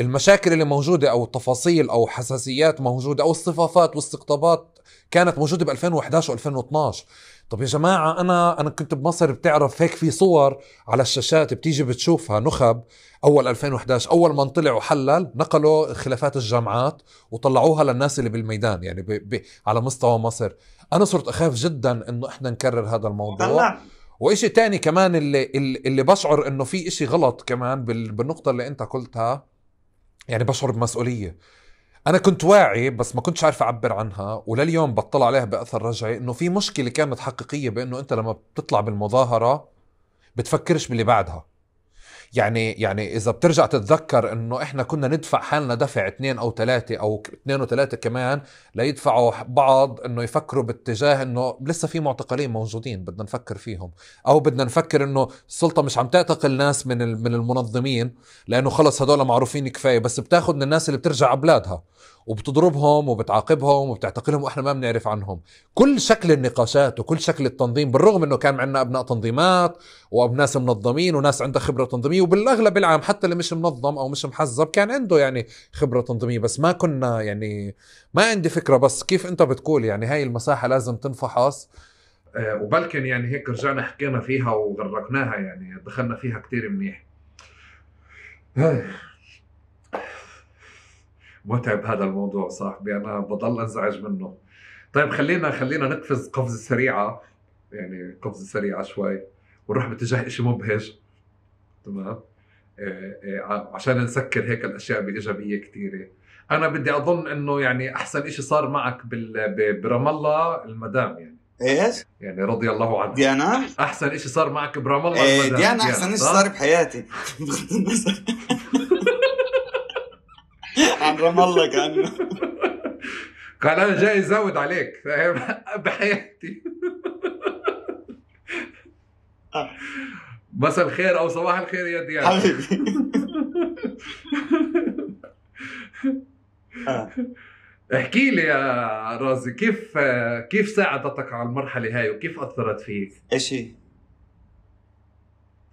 المشاكل اللي موجودة أو التفاصيل أو حساسيات موجودة أو الصفافات والاستقطابات كانت موجودة ب 2011 و 2012. طب يا جماعة أنا كنت بمصر، بتعرف هيك في صور على الشاشات بتيجي بتشوفها نخب أول 2011 أول ما طلع وحلل نقلوا خلافات الجامعات وطلعوها للناس اللي بالميدان، يعني على مستوى مصر. أنا صرت أخاف جدا إنه إحنا نكرر هذا الموضوع. وإشي تاني كمان اللي بشعر إنه في إشي غلط كمان بالنقطة اللي أنت قلتها، يعني بشعر بمسؤولية. أنا كنت واعي بس ما كنتش عارف أعبر عنها، ولليوم بطلع عليها بأثر رجعي إنه في مشكلة كانت حقيقية بإنه أنت لما بتطلع بالمظاهرة بتفكرش باللي بعدها. يعني إذا بترجع تتذكر إنه إحنا كنا ندفع حالنا دفع 2 أو 3 أو 2 و3 كمان ليدفعوا بعض إنه يفكروا باتجاه إنه لسه في معتقلين موجودين بدنا نفكر فيهم، أو بدنا نفكر إنه السلطة مش عم تعتقل ناس من المنظمين لأنه خلص هدول معروفين كفاية، بس بتاخد من الناس اللي بترجع عبلادها وبتضربهم وبتعاقبهم وبتعتقلهم وإحنا ما بنعرف عنهم. كل شكل النقاشات وكل شكل التنظيم، بالرغم إنه كان عندنا أبناء تنظيمات وناس منظمين وناس عندها خبرة تنظيمية، وبالأغلب العام حتى اللي مش منظم أو مش محزب كان عنده يعني خبرة تنظيمية، بس ما كنا يعني ما عندي فكرة. بس كيف أنت بتقول يعني هاي المساحة لازم تنفحص، وبلكن يعني هيك رجعنا حكينا فيها وغرقناها، يعني دخلنا فيها كتير منيح. متعب هذا الموضوع صاحبي، أنا بضل أنزعج منه. طيب خلينا نقفز قفزة سريعة، يعني قفزة سريعة شوي ونروح باتجاه إشي مبهج. تمام. عشان نسكر هيك الأشياء بإيجابية كتيرة. أنا بدي أظن إنه يعني أحسن إشي صار معك برام الله المدام، يعني إيش؟ يعني رضي الله عنها. ديانا؟ أحسن إشي صار معك برام الله المدام. ديانا أحسن إشي صار بحياتي. عن رام الله كأنه قال أنا جاي أزود عليك بحياتي. مساء الخير أو صباح الخير يا ديانا حبيبي. احكي لي يا رازي، كيف ساعدتك على المرحلة هاي وكيف أثرت فيك؟ إيش هي؟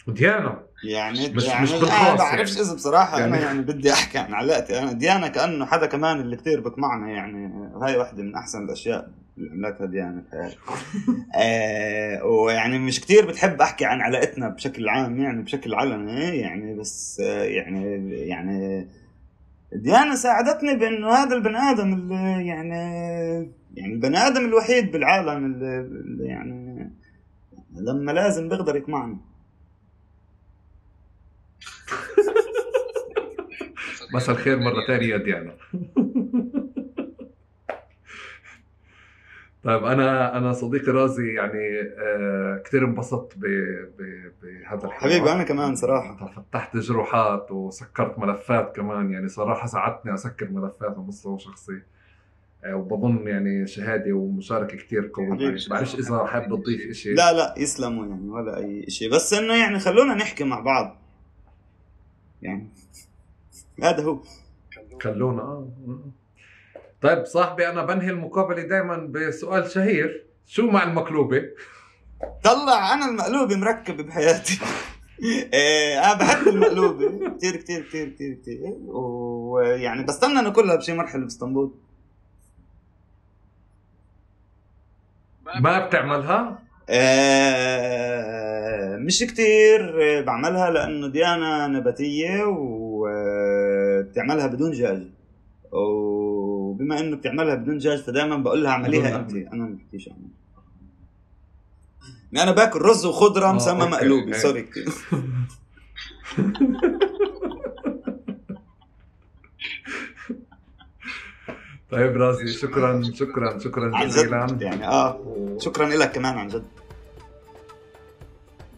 ديانا يعني مش أنا بالخاص بعرفش يعني. إذا بصراحة يعني أنا يعني بدي أحكي عن علاقتي أنا ديانا كأنه حدا كمان اللي كتير بقمعنا، يعني هاي واحدة من أحسن الأشياء اللي عملتها ديانا بحياتي. ويعني مش كتير بتحب أحكي عن علاقتنا بشكل عام، يعني بشكل علني يعني، بس يعني ديانا ساعدتني بأنه هذا البني آدم اللي يعني البني آدم الوحيد بالعالم اللي يعني لما لازم بيقدر يقمعني. مساء الخير مرة تانية يا ديانا. طيب انا صديقي رازي يعني كثير انبسطت بهذا الحوار. حبيبي انا كمان صراحه فتحت جروحات وسكرت ملفات كمان، يعني صراحه ساعدتني اسكر ملفات على مستوى شخصي، وبظن يعني شهاده ومشاركه كثير قويه. بعرفش اذا حابب تضيف شيء. لا يسلموا يعني ولا اي شيء، بس انه يعني خلونا نحكي مع بعض يعني هذا هو. خلونا طيب صاحبي، انا بنهي المقابله دائما بسؤال شهير: شو مع المقلوبه؟ طلع انا المقلوبه مركب بحياتي. انا بحب المقلوبه كثير كثير كثير كثير كثير، ويعني بستنى ناكلها بشي مرحله باسطنبول. ما بتعملها؟ مش كتير بعملها لأنه ديانة نباتية وبتعملها بدون دجاج، وبما إنه بتعملها بدون دجاج فدائما بقول لها اعمليها أنت، أنا ما بحكيش عنها. أنا باكل رز وخضرة مسمى مقلوبة. سوري كتير. طيب رازي، شكرا جزيلا يعني شكرا لك كمان عن جد.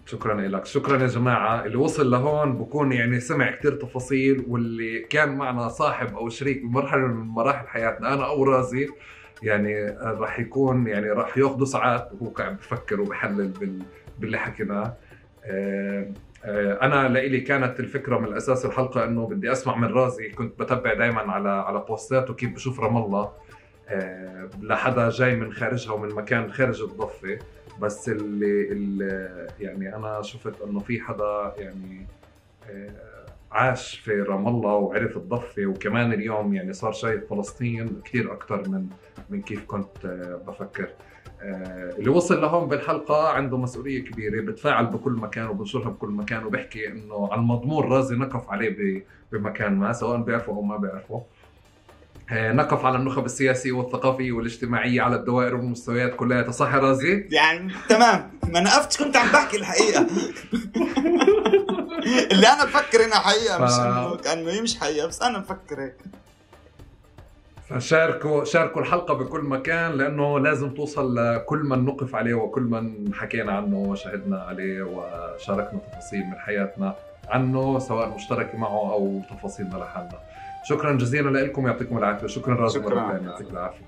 شكرا لك. شكرا يا جماعة. اللي وصل لهون بكون يعني سمع كتير تفاصيل، واللي كان معنا صاحب أو شريك بمرحلة من مراحل حياتنا أنا أو رازي يعني راح يكون يعني راح ياخذوا ساعات وهو قاعد بفكر وبحلل باللي حكيناه. أنا لإلي كانت الفكرة من الأساس الحلقة إنه بدي أسمع من رازي. كنت بتابع دايما على بوستاته كيف بشوف رام الله لحدا جاي من خارجها ومن مكان خارج الضفة، بس اللي يعني أنا شفت إنه في حدا يعني عاش في رام الله وعرف الضفة، وكمان اليوم يعني صار شايف فلسطين كثير أكتر من كيف كنت بفكر. اللي وصل لهون بالحلقة عنده مسؤولية كبيرة، بتفاعل بكل مكان وبنشرها بكل مكان، وبحكي إنه على المضمون رازي نقف عليه بمكان ما، سواء بيعرفه أو ما بيعرفه. نقف على النخب السياسية والثقافية والاجتماعية على الدوائر والمستويات كلها. صح يا رازي؟ يعني تمام، ما نقفتش، كنت عم بحكي الحقيقة. اللي أنا بفكر إنها حقيقة، مش إنه كأنه هي مش حقيقة، بس أنا بفكر هيك. فشاركوا الحلقة بكل مكان، لأنه لازم توصل لكل من نقف عليه وكل من حكينا عنه وشهدنا عليه وشاركنا تفاصيل من حياتنا عنه، سواء مشتركة معه أو تفاصيلنا لحالنا. شكرا جزيلا لكم، يعطيكم العافية. شكرا رازي، مرة ثانية، يعطيك العافية.